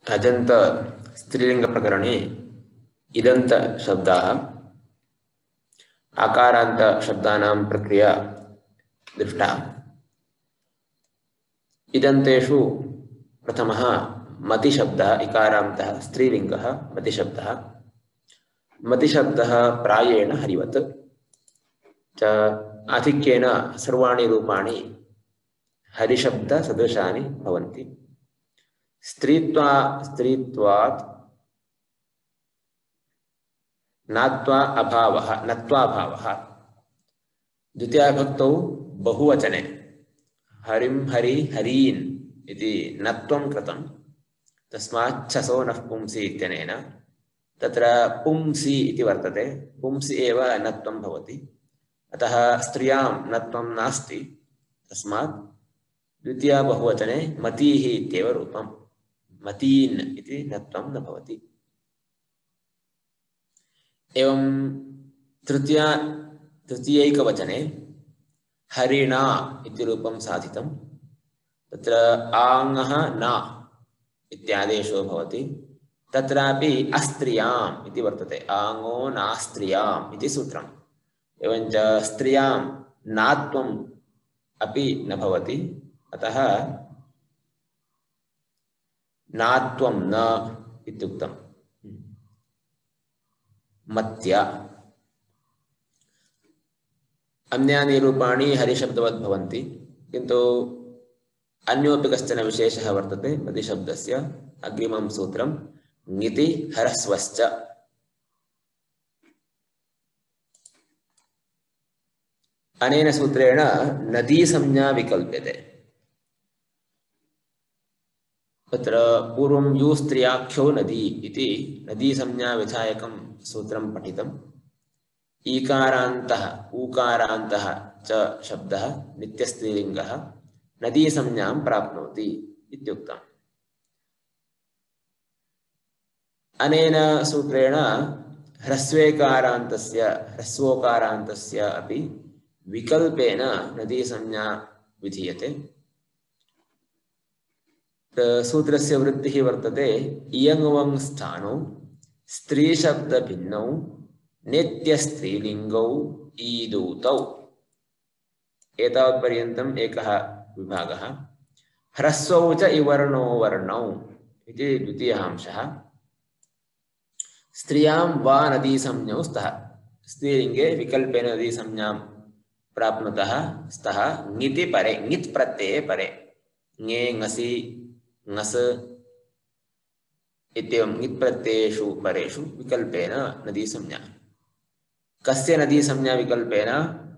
अजन्त स्त्रीलिंगप्रकरणे इदन्त शब्दाः आकारान्त शब्दानां प्रक्रिया दृष्टा। इदन्तेषु प्रथमः मतिशब्दः इकारान्तः स्त्रीलिङ्गः मतिशब्दः। मतिशब्दः प्रायेण हरिवत् च आधिक्येन सर्वाणि रूपाणि हरिशब्दसदृशानि भवन्ति। स्त्रीत्वात् नात्वा अभावः नत्वाभावः द्वितीयाविभक्तौ बहुवचने हरिं हरि हरीन् इति नत्वं कृतं तस्मात् छसो नः पुंसि इत्यनेन तत्र पुंसि इति वर्तते। पुंसि एव नत्वं भवति, अतः स्त्रियां नत्वं नास्ति, तस्मात् द्वितीया बहुवचने मतीः इत्येव रूपं, मतीन् इति नत्वं न भवति। एवं तृतीयैकवचने हरिणा इति रूपं साधितं। तत्र आङः न इत्यादेशो भवति। तत्रापि अस्त्रियाम् इति वर्तते, आङो नास्त्रियाम् इति सूत्रम्। एवञ्च स्त्रियां नात्वम् अपि न भवति, अतः नात्वं न इत्युक्तम्। मत्या अन्यानि रूपाणि हरिशब्दवत् भवन्ति, किन्तु अन्योपि कश्चन विशेषः वर्तते मतिशब्दस्य। अग्रिमं सूत्रं ङिति ह्रस्वश्च। अनेन सूत्रेण नदी संज्ञा विकल्प्यते। तत्र पूर्वं यूस्त्रियाख्यो नदी इति नदी संज्ञा विधायकं सूत्रं पठितम्। ईकारान्तः ऊकारान्तः च शब्दः नित्यस्त्रीलिङ्गः नदी संज्ञां प्राप्नोति इत्युक्तम्। अनेन सूत्रेण ह्रस्वोकारान्तस्य अपि विकल्पेन नदी संज्ञा विधीयते। सूत्रस्य वृत्तिः वर्तते इयङुवङ स्थानौ स्त्रीशब्दभिन्नौ नित्यस्त्रीलिङ्गौ ईदूतौ। एतावत्पर्यन्तम् एकः विभागः। ह्रस्वौ च इवर्णो वर्णौ इति द्वितीयः अंशः। स्त्रियां वा नदी संज्ञौ स्तः, स्त्रीलिङ्गे विकल्पेन नदी संज्ञां प्राप्नुतः स्तः ङिति परे, ङित् प्रत्यये परे, ङे ङसि ङस् इत्येवं ङित् प्रत्ययेषु परेषु विकल्पेन नदी संज्ञा। कस्य नदी संज्ञा विकल्पेन?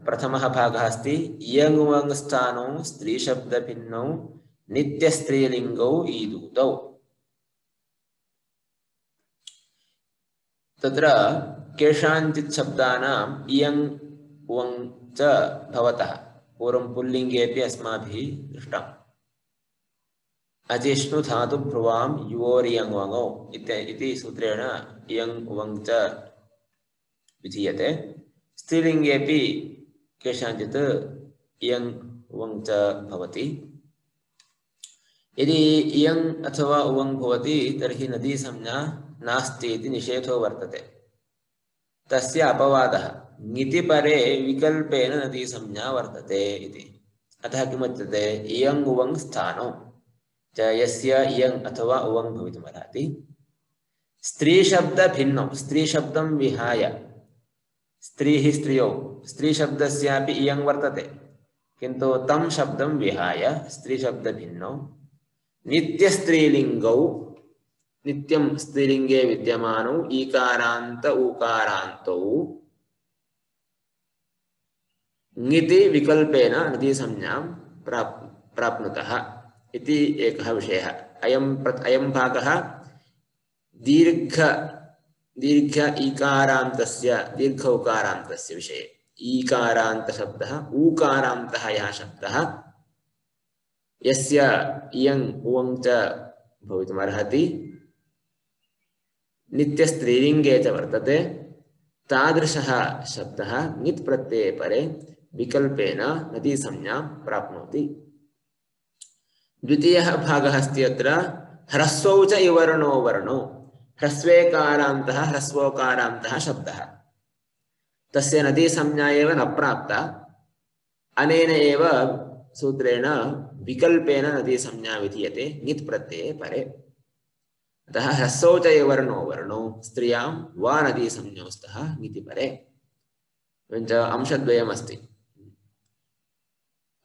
प्रथमः भागः अस्ति इयङुवङ स्थानौ स्त्रीशब्दभिन्नौ नित्यस्त्रीलिङ्गौ ईदूतौ। तत्र केषाञ्चित् शब्दानाम् इयङ् उवङ् च भवतः पूर्वं पुल्लिङ्गेऽपि अस्माभिः दृष्टम्। अजिष्णु धातु भ्रुवां युवोरियङ्वङौ इति सूत्रेण इयङ् उवङ् च विधीयते। स्त्रीलिङ्गेऽपि केषाञ्चित् इयङ् उवङ् च भवति। यदि इयङ् अथवा उवङ् भवति तर्हि नदी संज्ञा नास्ति इति निषेधो वर्तते। तस्य अपवादः ङिति परे विकल्पेन नदी संज्ञा वर्तते इति। अतः किमुच्यते? इयङ् उवङ् स्थानौ च यस्य इयङ् अथवा उवङ् भवितुमर्हति। स्त्रीशब्दभिन्नौ, स्त्रीशब्दं विहाय, स्त्रीः स्त्रियौ, स्त्रीशब्दस्यापि इयङ् वर्तते, किन्तु तं शब्दं विहाय स्त्रीशब्दभिन्नौ नित्यस्त्रीलिङ्गौ, नित्यं स्त्रीलिङ्गे विद्यमानौ ईकारान्त ऊकारान्तौ ङिति विकल्पेन नदी संज्ञां प्राप्नुतः इति एकः विषयः। अयं भागः दीर्घ ईकारान्तस्य दीर्घ उकारान्तस्य विषये। ईकारान्त शब्दः, ऊकारान्तः यः शब्दः यस्य इयङ् उवङ् च भवितुमर्हति, नित्यस्त्रीलिङ्गे च वर्तते, तादृशः शब्दः ङित् प्रत्यये परे विकल्पेन नदी संज्ञां प्राप्नोति। द्वितीयः भागः अस्ति अत्र ह्रस्वौ च इवर्णो वर्णो ह्रस्वेकारान्तः ह्रस्वोकारान्तः शब्दः तस्य नदी संज्ञा एव न प्राप्ता अनेन एव सूत्रेण विकल्पेन नदी संज्ञा विधीयते ङित् प्रत्यये परे अतः ह्रस्वौ च इवर्णो वर्णो स्त्रियां वा नदी संज्ञौ स्तः ङिति परे एवञ्च अंशद्वयमस्ति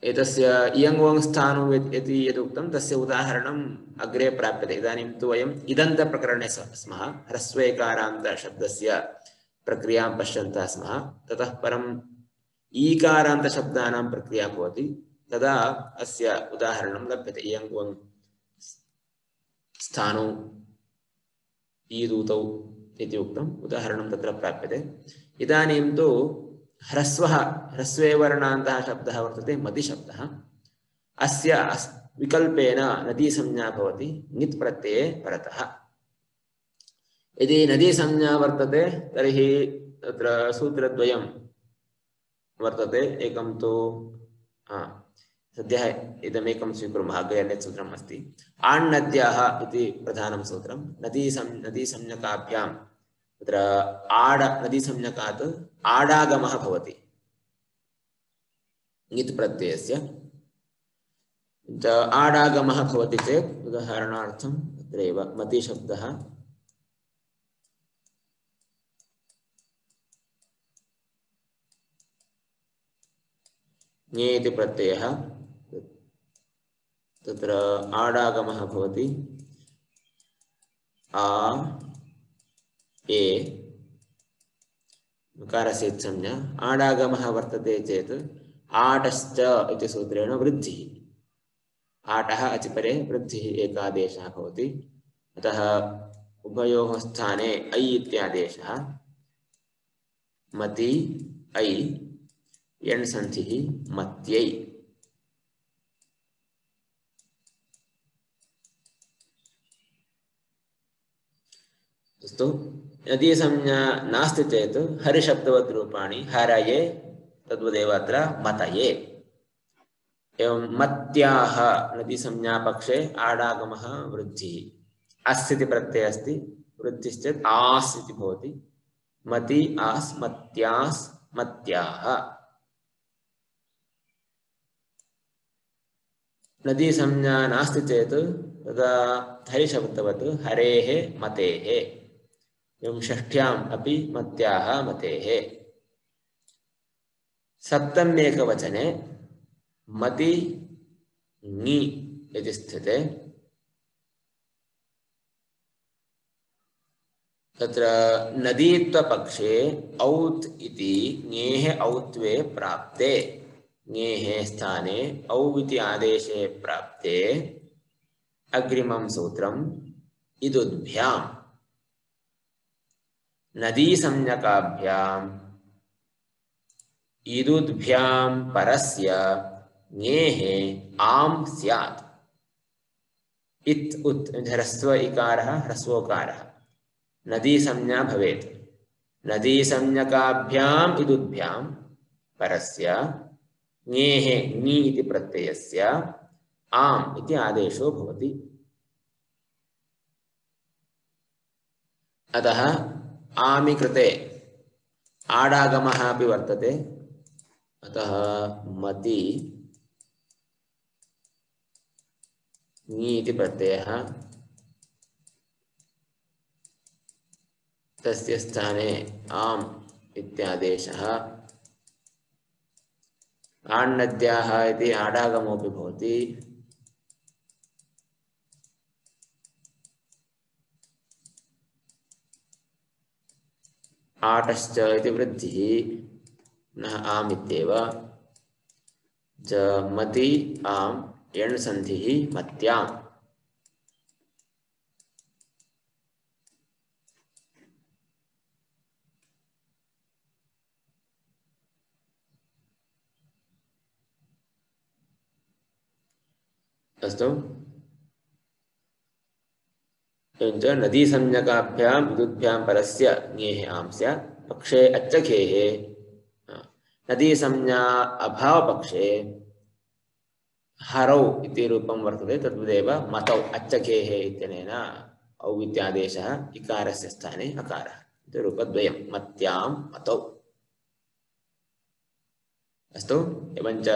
एतस्य इयङ् स्थानं यदि यदुक्तं तस्य उदाहरणम् अग्रे प्राप्यते इदानीं तु वयम् इदन्तप्रकरणे स्मः ह्रस्वेकारान्तशब्दस्य प्रक्रियां पश्यन्तः स्मः ततः परम् ईकारान्तशब्दानां प्रक्रिया भवति तदा अस्य उदाहरणं लभ्यते इयङ् स्थानौ ईदूतौ इति उक्तम् उदाहरणं तत्र प्राप्यते इदानीं तु ह्रस्वः ह्रस्वे वर्णान्तः शब्दः वर्तते मतिशब्दः अस्य विकल्पेन नदी संज्ञा भवति ङित् प्रत्यये परतः यदि नदी संज्ञा वर्तते तर्हि तत्र सूत्रद्वयं वर्तते एकं तु सद्यः इदमेकं स्वीकुर्मः अग्रे अन्यत् सूत्रम् अस्ति आण्णद्याः इति प्रधानं सूत्रं नदी संज्ञकाभ्यां तत्र नदी संज्ञकात् आडागमः भवति ङित् प्रत्ययस्य आडागमः भवति चेत् उदाहरणार्थं तत्रैव मतिशब्दः ङे इति प्रत्ययः तत्र आडागमः भवति आ ए नकारस्य संज्ञा आडागमः वर्तते चेत् आटश्च इति सूत्रेण वृद्धिः आटः अचिपरे वृद्धिः एकादेशः भवति अतः उभयोः स्थाने ऐ इत्यादेशः मति ऐ यण् सन्धिः मत्यै अस्तु यदि संज्ञा नास्ति चेत् हरिशब्दवत् रूपाणि हरये तद्वदेव अत्र मतये एवं मत्याः नदी संज्ञा पक्षे आडागमः वृद्धिः अस् इति प्रत्ययः अस्ति वृद्धिश्चेत् आस् इति भवति मति आस् मत्यास् मत्याः नदी संज्ञा नास्ति चेत् तदा हरिशब्दवत् हरेः मतेः एवं षष्ठ्याम् अपि मत्याः मतेः सप्तम्येकवचने मति ङि इति स्थिते तत्र नदीत्वपक्षे औत् इति ङेः औत्वे प्राप्ते ङेः स्थाने औ इति आदेशे प्राप्ते अग्रिमं सूत्रम् इदुद्भ्याम् नदी संज्ञकाभ्याम् इदुद्भ्यां परस्य ङेः आम् स्यात् इत् उत् ह्रस्व इकारः ह्रस्वोकारः नदी संज्ञा भवेत् नदी संज्ञकाभ्याम् इदुद्भ्यां परस्य ङेः ङि इति प्रत्ययस्य आम् इति आदेशो भवति अतः आमि कृते आडागमः अपि वर्तते अतः मति ङि इति प्रत्ययः तस्य स्थाने आम् इत्यादेशः आण्णद्याः इति आडागमोऽपि भवति आटश्च इति वृद्धिः पुनः आम् इत्येव च मति आम् यण् सन्धिः मत्याम् अस्तु एवञ्च नदी संज्ञकाभ्याम् इदुद्भ्यां परस्य ङेः आम् स्यात् पक्षे अच्छखेः नदी संज्ञा अभाव पक्षे हरौ इति रूपं वर्तते तद्वदेव मतौ अच्चकेः इत्यनेन औ इत्यादेशः इकारस्य स्थाने अकारः इति रूपद्वयं मत्यां मतौ अस्तु एवञ्च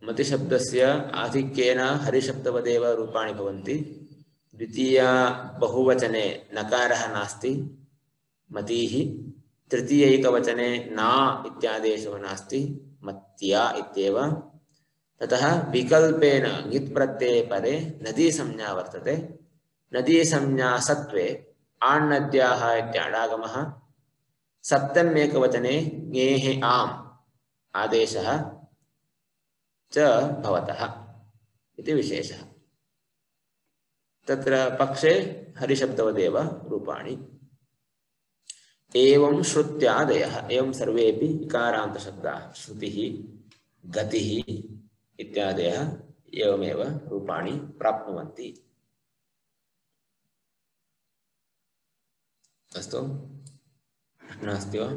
मतिशब्दस्य आधिक्येन हरिशब्दवदेव रूपाणि भवन्ति द्वितीया बहुवचने नकारः नास्ति मतीः तृतीयैकवचने ना इत्यादेशो नास्ति मत्या इत्येव ततः विकल्पेन ङित् प्रत्यये परे नदी संज्ञा वर्तते नदी संज्ञा सत्वे आण्णद्याः इत्याडागमः सप्तम्येकवचने ङेः आम् आदेशः च भवतः इति विशेषः तत्र पक्षे हरिशब्दवदेव रूपाणि एवं श्रुत्यादयः एवं सर्वेपि इकारान्तशब्दाः श्रुतिः गतिः इत्यादयः एवमेव रूपाणि प्राप्नुवन्ति अस्तु प्रश्नः अस्ति वा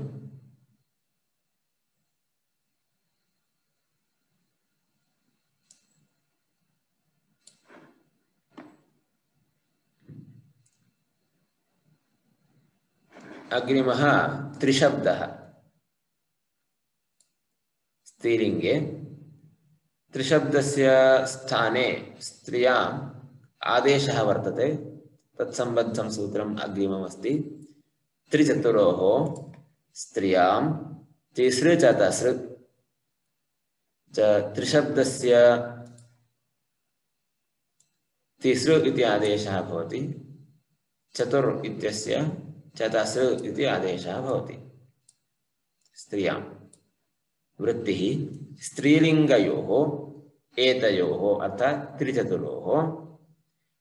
अग्रिमः त्रिशब्दः स्त्रीलिङ्गे त्रिशब्दस्य स्थाने स्त्रियाम् आदेशः वर्तते तत्सम्बद्धं सूत्रम् अग्रिममस्ति त्रिचतुरोः स्त्रियां तिसृ चतसृ च त्रिशब्दस्य तिसृ इति आदेशः भवति चतुर् इत्यस्य चतसृ इति आदेशः भवति स्त्रियां वृत्तिः स्त्रीलिङ्गयोः एतयोः अर्थात् त्रिचतुरोः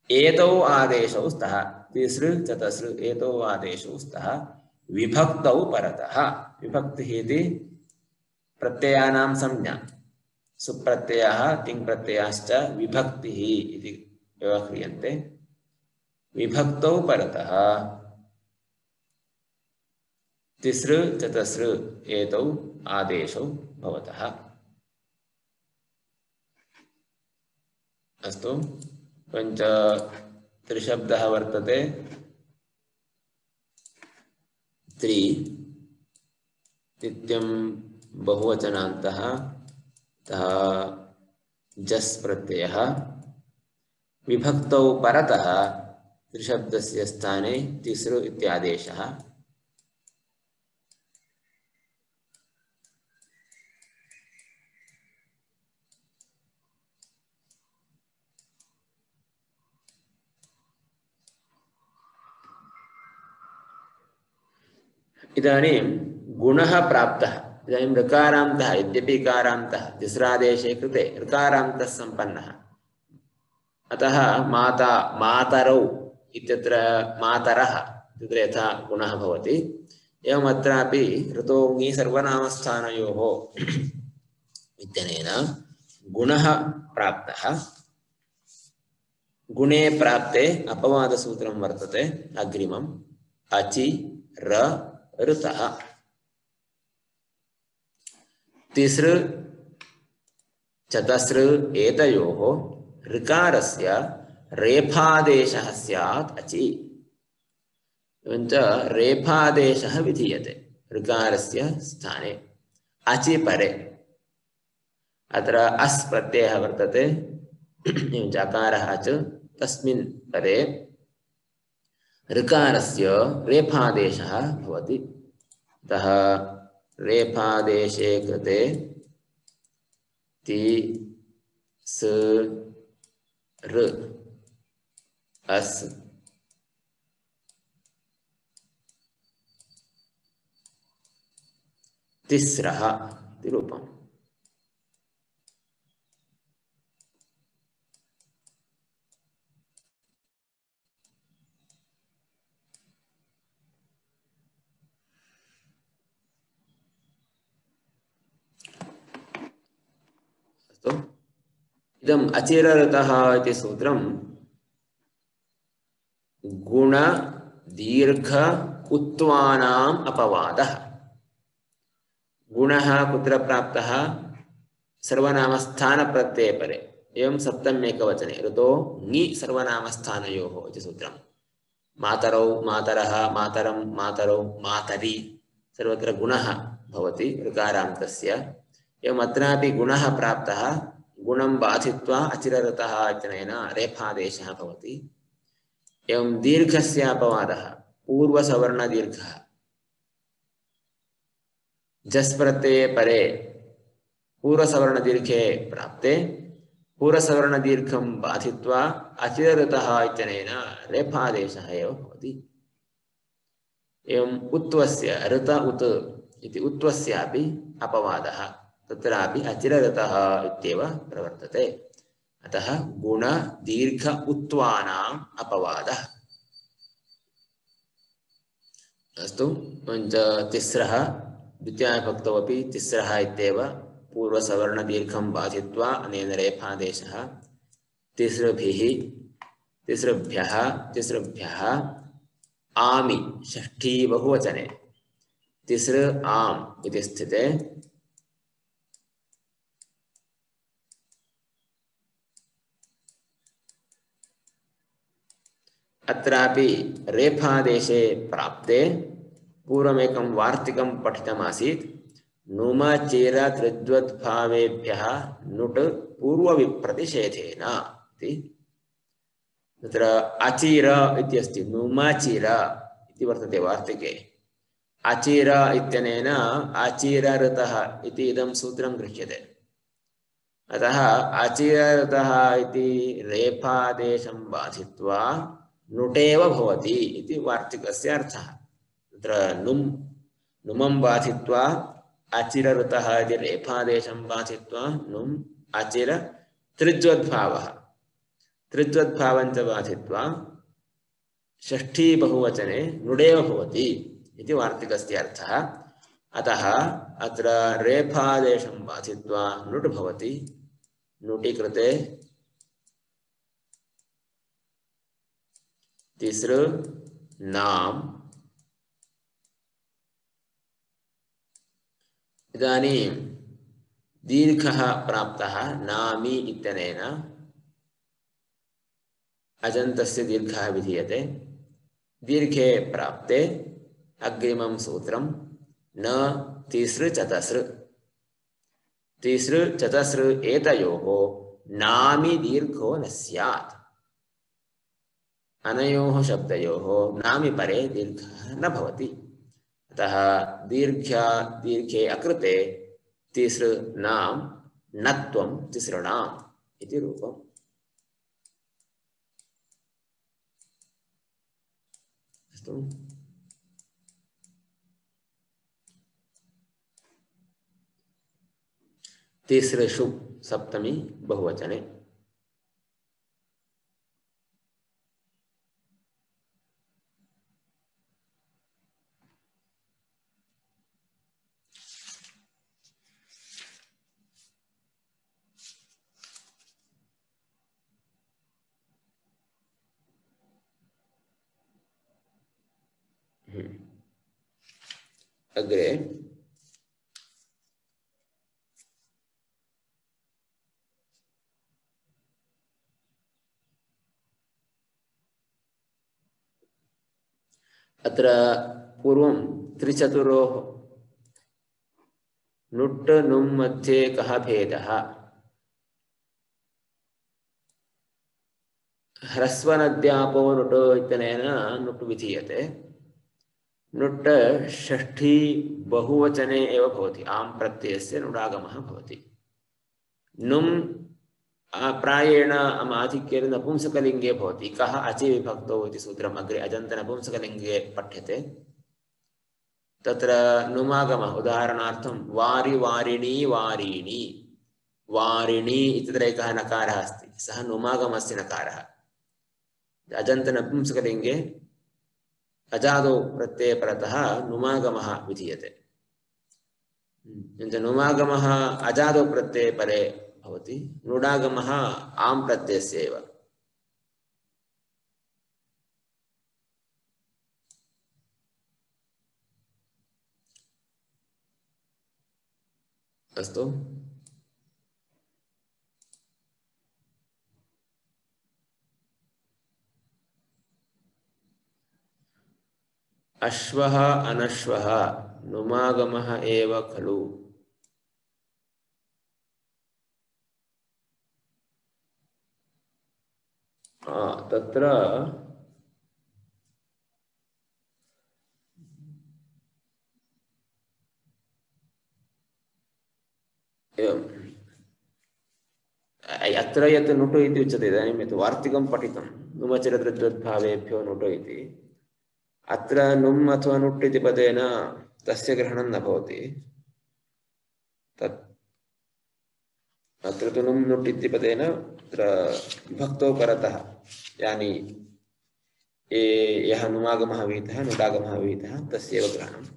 एतौ आदेशौ स्तः तिसृ चतसृ एतौ आदेशौ स्तः विभक्तौ परतः विभक्तिः इति प्रत्ययानां संज्ञा सुप्रत्ययः तिङ्प्रत्ययाश्च विभक्तिः इति व्यवह्रियन्ते विभक्तौ परतः तिसृ चतसृ एतौ आदेशौ भवतः अस्तु पञ्च त्रिशब्दः वर्तते त्रि नित्यं बहुवचनान्तः तः जस् प्रत्ययः विभक्तौ परतः त्रिशब्दस्य स्थाने तिसृ इत्यादेशः इदानीं गुणः प्राप्तः इदानीं ऋकारान्तः यद्यपि इकारान्तः तिस्रादेशे कृते ऋकारान्तः सम्पन्नः अतः माता मातरौ इत्यत्र मातरः इत्यत्र यथा गुणः भवति एवम् अत्रापि ऋतो ङि सर्वनामस्थानयोः इत्यनेन गुणः प्राप्तः गुणे प्राप्ते अपवादसूत्रं वर्तते अग्रिमम् अचि र ऋतः तिसृ चतसृ एतयोः ऋकारस्य रेफादेशः स्यात् अचि एवञ्च रेफादेशः विधीयते ऋकारस्य स्थाने अचि परे अत्र अस् प्रत्ययः वर्तते एवञ्च अकारः च तस्मिन् परे ऋकारस्य रेफादेशः भवति अतः रेफादेशे कृते ति स ऋ अस् तिस्रः इति रूपम् इदम् अचिरऋतः इति सूत्रं गुण दीर्घ उत्वानाम् अपवादः गुणः कुत्र प्राप्तः सर्वनामस्थानप्रत्यये परे एवं सप्तम्येकवचने ऋतो ङि सर्वनामस्थानयोः इति सूत्रम् मातरौ मातरः मातरं मातरौ मातरि सर्वत्र गुणः भवति ऋकारान्तस्य एवम् अत्रापि गुणः प्राप्तः गुणं बाधित्वा अचिरऋतः इत्यनेन रेफादेशः भवति एवं दीर्घस्य अपवादः पूर्वसवर्णदीर्घः जस् प्रत्यये परे पूर्वसवर्णदीर्घे प्राप्ते पूर्वसवर्णदीर्घं बाधित्वा अचिरऋतः इत्यनेन रेफादेशः एव भवति एवम् उत्वस्य ऋत उत् इति उत्वस्यापि अपवादः तत्रापि अचिरऋतः इत्येव प्रवर्तते अतः गुण दीर्घ उत्वानाम् अपवादः अस्तु तिस्रः द्वितीयाविभक्तौ अपि तिस्रः इत्येव पूर्वसवर्णदीर्घं बाधित्वा अनेन रेफादेशः तिसृभ्यः आमि षष्ठी बहुवचने तिसृ आम् इति स्थिते अत्रापि रेफादेशे प्राप्ते पूर्वमेकं वार्तिकं पठितमासीत् नुम चेर त्रिद्वद्भावेभ्यः नुट् पूर्वविप्रतिषेधेन इति तत्र अचिर इत्यस्ति नुमचिर इति वर्तते वार्तिके अचिर इत्यनेन अचिरऋतः इति इदं सूत्रं गृह्यते अतः अचिरऋतः इति रेफादेशं बाधित्वा नुटेव भवति इति वार्तिकस्य अर्थः तत्र नुमं बाधित्वा अचिरऋतः इति रेफादेशं बाधित्वा नुम् अचिर त्रिज्वद्भावः त्रिज्वद्भावञ्च बाधित्वा षष्ठी बहुवचने नुडेव भवति इति वार्तिकस्य अर्थः अतः अत्र रेफादेशं बाधित्वा नुट् भवति नुटि कृते तिसृ नाम इदानीं दीर्घः प्राप्तः नामी इत्यनेन अजन्तस्य दीर्घः विधीयते दीर्घे प्राप्ते अग्रिमं सूत्रं न तिसृ चतसृ एतयोः नामि दीर्घो न स्यात् अनयोः शब्दयोः नामि परे दीर्घः न भवति अतः दीर्घे अकृते तिसृ नाम नत्वं तिसृणाम् इति रूपम् अस्तु तिसृषु सप्तमी बहुवचने अग्रे अत्र पूर्वं त्रिचतुरोः नुट् नुम् मध्ये कः भेदः ह्रस्वनद्यापो नुट् इत्यनेन नुट् विधीयते नुट् षष्ठी बहुवचने एव भवति आम् प्रत्ययस्य नुडागमः भवति नुम् प्रायेण आधिक्येन नपुंसकलिङ्गे भवति कः अचि विभक्तौ इति सूत्रम् अग्रे अजन्तनपुंसकलिङ्गे पठ्यते तत्र नुमागमः उदाहरणार्थं वारि वारिणी वारीणि वारिणी इत्यत्र एकः नकारः अस्ति सः नुमागमस्य नकारः अजन्तनपुंसकलिङ्गे अजादौ प्रत्यये परतः नुमागमः विधीयते किञ्च नुमागमः अजादौ प्रत्यये परे भवति नुडागमः आम् प्रत्ययस्य एव अस्तु अश्वः अनश्वः नुमागमः एव खलु। तत्र अत्र यत् नुटु इति उच्यते इदानीं यत् वार्तिकं पठितं नुमचरदृद्वद्भावेभ्यो नुटु इति अत्र नुम् अथवा नुट् इति पदेन तस्य ग्रहणं न भवति। तत् अत्र तु नुम् नुट् इति पदेन अत्र विभक्तौ परतः यानि यः नुमागमः विहितः नुडागमः विहितः तस्यैव ग्रहणम्।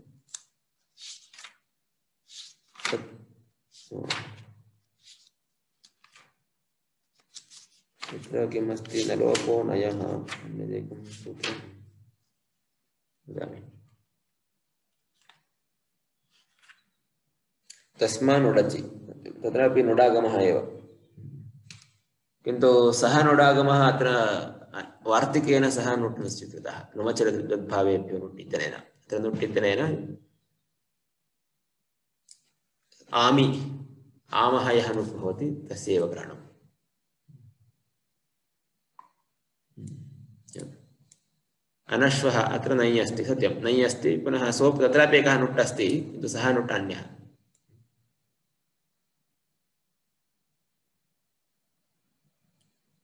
तत्र किमस्ति न लोपो नयः अन्यदेकं सूत्रं वदामि। तस्मान्नुडचि तत्रापि नुडागमः एव, किन्तु सः नुडागमः अत्र वार्तिकेन सह नुट् न स्वीकृतः नुमचरदृद्भावेभ्यो नुट् इत्यनेन। अत्र नुट् इत्यनेन आमि आमः यः नुट् भवति तस्यैव ग्रहणम्। अनश्वः अत्र नञ् अस्ति, सत्यं नञ् अस्ति, पुनः सोप् तत्रापि एकः नुट् अस्ति किन्तु सः नुट् अन्यः।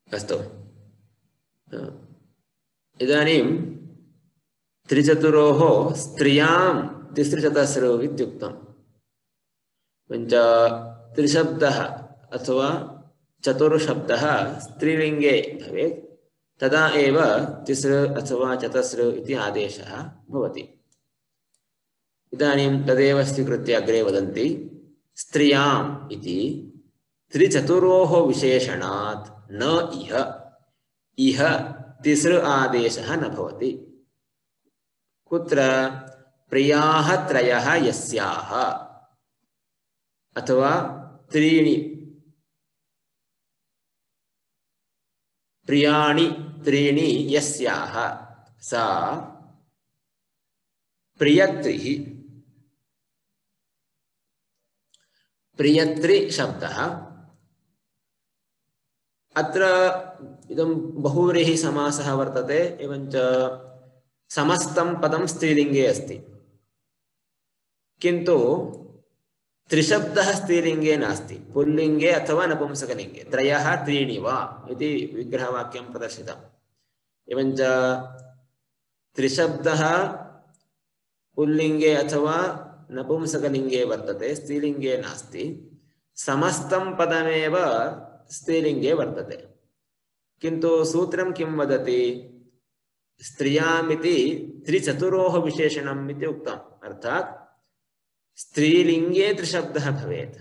अस्तु, इदानीं त्रिचतुरोः स्त्रियां तिसृचतस्रौ इत्युक्तम्। पञ्च त्रिशब्दः अथवा चतुर्शब्दः स्त्रीलिङ्गे भवेत् तदा एव तिस्र अथवा चतस्र इति आदेशः भवति। इदानीं तदेव स्वीकृत्य अग्रे वदन्ति स्त्रियाम् इति त्रिचतुरोः विशेषणात् न इह इह तिस्र आदेशः न भवति। कुत्र प्रियाः त्रयः यस्याः अथवा त्रीणि प्रियाणि त्रीणि यस्याः सा प्रियत्रिः। प्रियत्रि शब्दः अत्र इदं बहुव्रीहि समासः वर्तते, एवञ्च समस्तं पदं स्त्रीलिङ्गे अस्ति, किन्तु त्रिशब्दः स्त्रीलिङ्गे नास्ति, पुल्लिङ्गे अथवा नपुंसकलिङ्गे। त्रयः त्रीणि वा इति विग्रहवाक्यं प्रदर्शितम्। एवञ्च त्रिशब्दः पुल्लिङ्गे अथवा नपुंसकलिङ्गे वर्तते, स्त्रीलिङ्गे नास्ति। समस्तं पदमेव स्त्रीलिङ्गे वर्तते, किन्तु सूत्रं किं वदति? स्त्रियामिति त्रिचतुरोः विशेषणम् इति उक्तम्। अर्थात् स्त्रीलिङ्गे त्रिशब्दः भवेत्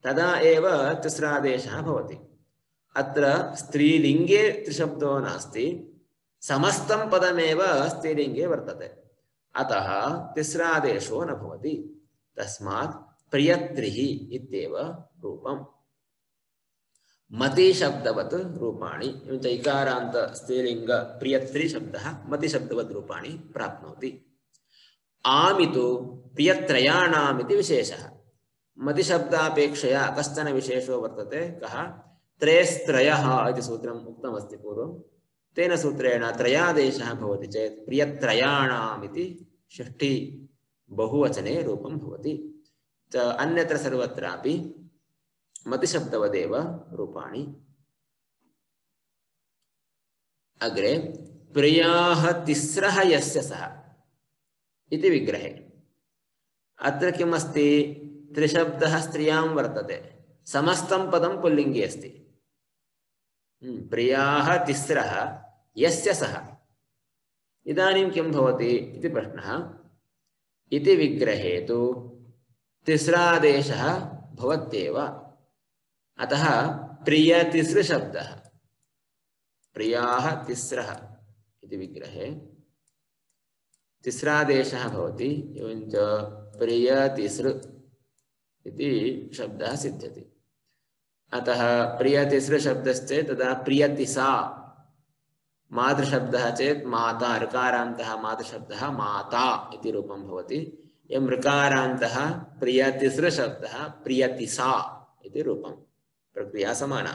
तदा एव तिस्रादेशः भवति। अत्र स्त्रीलिङ्गे त्रिशब्दो नास्ति, समस्तं पदमेव स्त्रीलिङ्गे वर्तते, अतः तिस्रादेशो न भवति। तस्मात् प्रियत्रिः इत्येव रूपम्। मति शब्दवत् रूपाणि एवञ्च इकारान्त स्त्रीलिङ्ग प्रियत्रि शब्दः मति शब्दवत् रूपाणि प्राप्नोति। आमितु प्रियत्रयाणाम् इति विशेषः। मतिशब्दापेक्षया कश्चन विशेषो वर्तते, कः? त्रयस्त्रयः इति सूत्रम् उक्तमस्ति पूर्वं। तेन सूत्रेण त्रयादेशः भवति चेत् प्रियत्रयाणाम् इति षष्ठी बहुवचने रूपं भवति। अन्यत्र सर्वत्रापि मतिशब्दवदेव रूपाणि। अग्रे प्रियाः तिस्रः यस्य सः इति विग्रहे अत्र किम् अस्ति? त्रिशब्दः स्त्रियां वर्तते, समस्तं पदं पुल्लिङ्गे अस्ति। प्रियाः तिस्रः यस्य सः, इदानीं किं भवति इति प्रश्नः। इति विग्रहे तु तिस्रादेशः भवत्येव, अतः प्रियतिसृशब्दः प्रियाः तिस्रः इति विग्रहे तिस्रादेशः भवति। एवञ्च प्रियतिसृ इति शब्दः सिद्ध्यति। अतः प्रियतिसृ शब्दश्चेत् तदा प्रियतिसा मातृशब्दः चेत् माता, ऋकारान्तः मातृशब्दः माता इति रूपं भवति। एवं ऋकारान्तः प्रियतिसृशब्दः प्रियतिसा इति रूपं। प्रक्रिया समाना।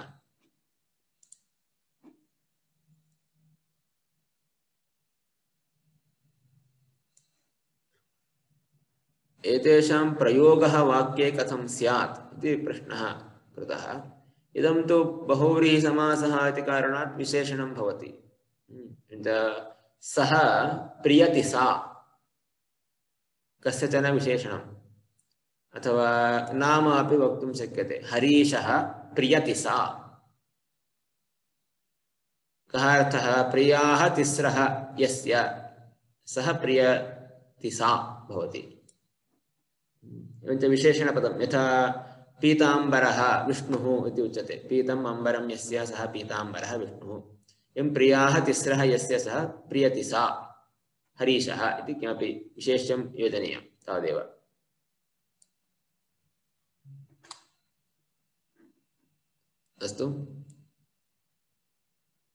एतेषां प्रयोगः वाक्ये कथं स्यात् इति प्रश्नः कृतः। इदं तु बहुव्रीहिसमासः इति कारणात् विशेषणं भवति। सः प्रियतिसा कस्यचन विशेषणम् अथवा नाम अपि वक्तुं शक्यते। हरीशः प्रियतिसा। कः अर्थः? प्रियाः तिस्रः यस्य सः प्रियतिसा भवति। एवञ्च विशेषणपदं यथा पीताम्बरः विष्णुः इति उच्यते। पीतम् अम्बरं यस्य सः पीताम्बरः विष्णुः। एवं प्रियाः तिस्रः यस्य सः प्रियतिसा हरीशः इति किमपि विशेष्यं योजनीयं तावदेव। अस्तु।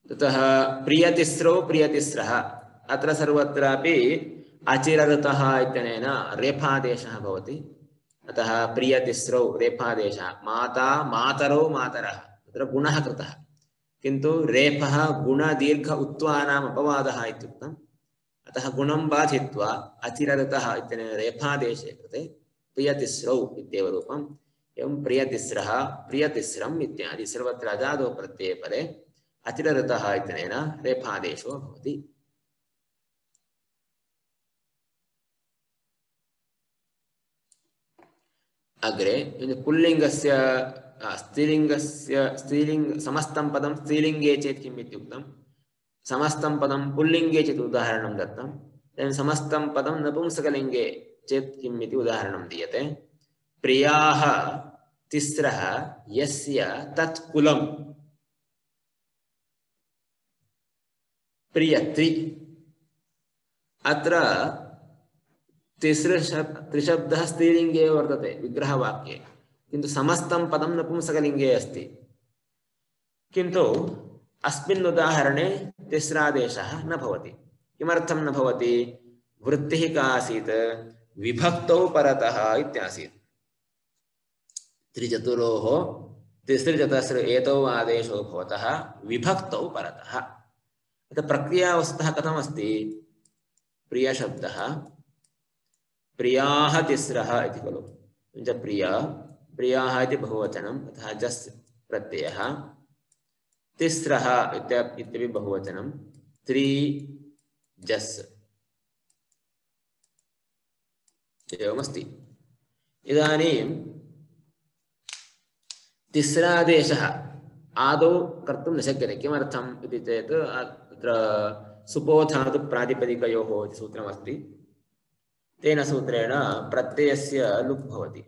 ततः प्रियतिस्रौ प्रियतिस्रः अत्र सर्वत्रापि अचिरऋतः इत्यनेन रेफादेशः भवति। अतः प्रियतिस्रौ रेफादेशः। माता मातरौ मातरः तत्र गुणः कृतः, किन्तु रेफः गुणदीर्घ उत्वानाम् अपवादः इत्युक्तम्। अतः गुणं बाधित्वा अचिरऋतः इत्यनेन रेफादेशे कृते प्रियतिस्रौ इत्येव रूपम्। एवं प्रियतिस्रः प्रियतिस्रम् इत्यादि सर्वत्र अजादो प्रत्यये परे अचिरऋतः इत्यनेन रेफादेशो भवति। अग्रे पुल्लिङ्गस्य स्त्रीलिङ्ग समस्तं पदं स्त्रीलिङ्गे चेत् किम् इत्युक्तं। समस्तं पदं पुल्लिङ्गे चेत् उदाहरणं दत्तं। समस्तं पदं नपुंसकलिङ्गे चेत् किम् इति उदाहरणं दीयते। प्रियाः तिस्रः यस्य तत् कुलं प्रियत्रि। अत्र त्रिशब्दः स्त्रीलिङ्गे वर्तते विग्रहवाक्ये, किन्तु समस्तं पदं नपुंसकलिङ्गे अस्ति। किन्तु अस्मिन् उदाहरणे तिस्रादेशः न भवति। किमर्थं न भवति? वृत्तिः का आसीत्? विभक्तौ परतः इत्यासीत्। त्रिचतुरोः तिसृचतस्र एतौ आदेशो भवतः विभक्तौ परतः। अतः प्रक्रिया वस्तुतः कथमस्ति? प्रियशब्दः प्रियाः तिस्रः इति खलु। प्रिया प्रियाः इति बहुवचनं, तथा जस् प्रत्ययः। तिस्रः इत्यपि बहुवचनं, त्रि जस् एवमस्ति। इदानीं तिस्रादेशः आदौ कर्तुं न शक्यते। किमर्थम् इति चेत् अत्र सुपोधातु प्रातिपदिकयोः इति सूत्रमस्ति। तेन सूत्रेण प्रत्ययस्य लुक् भवति।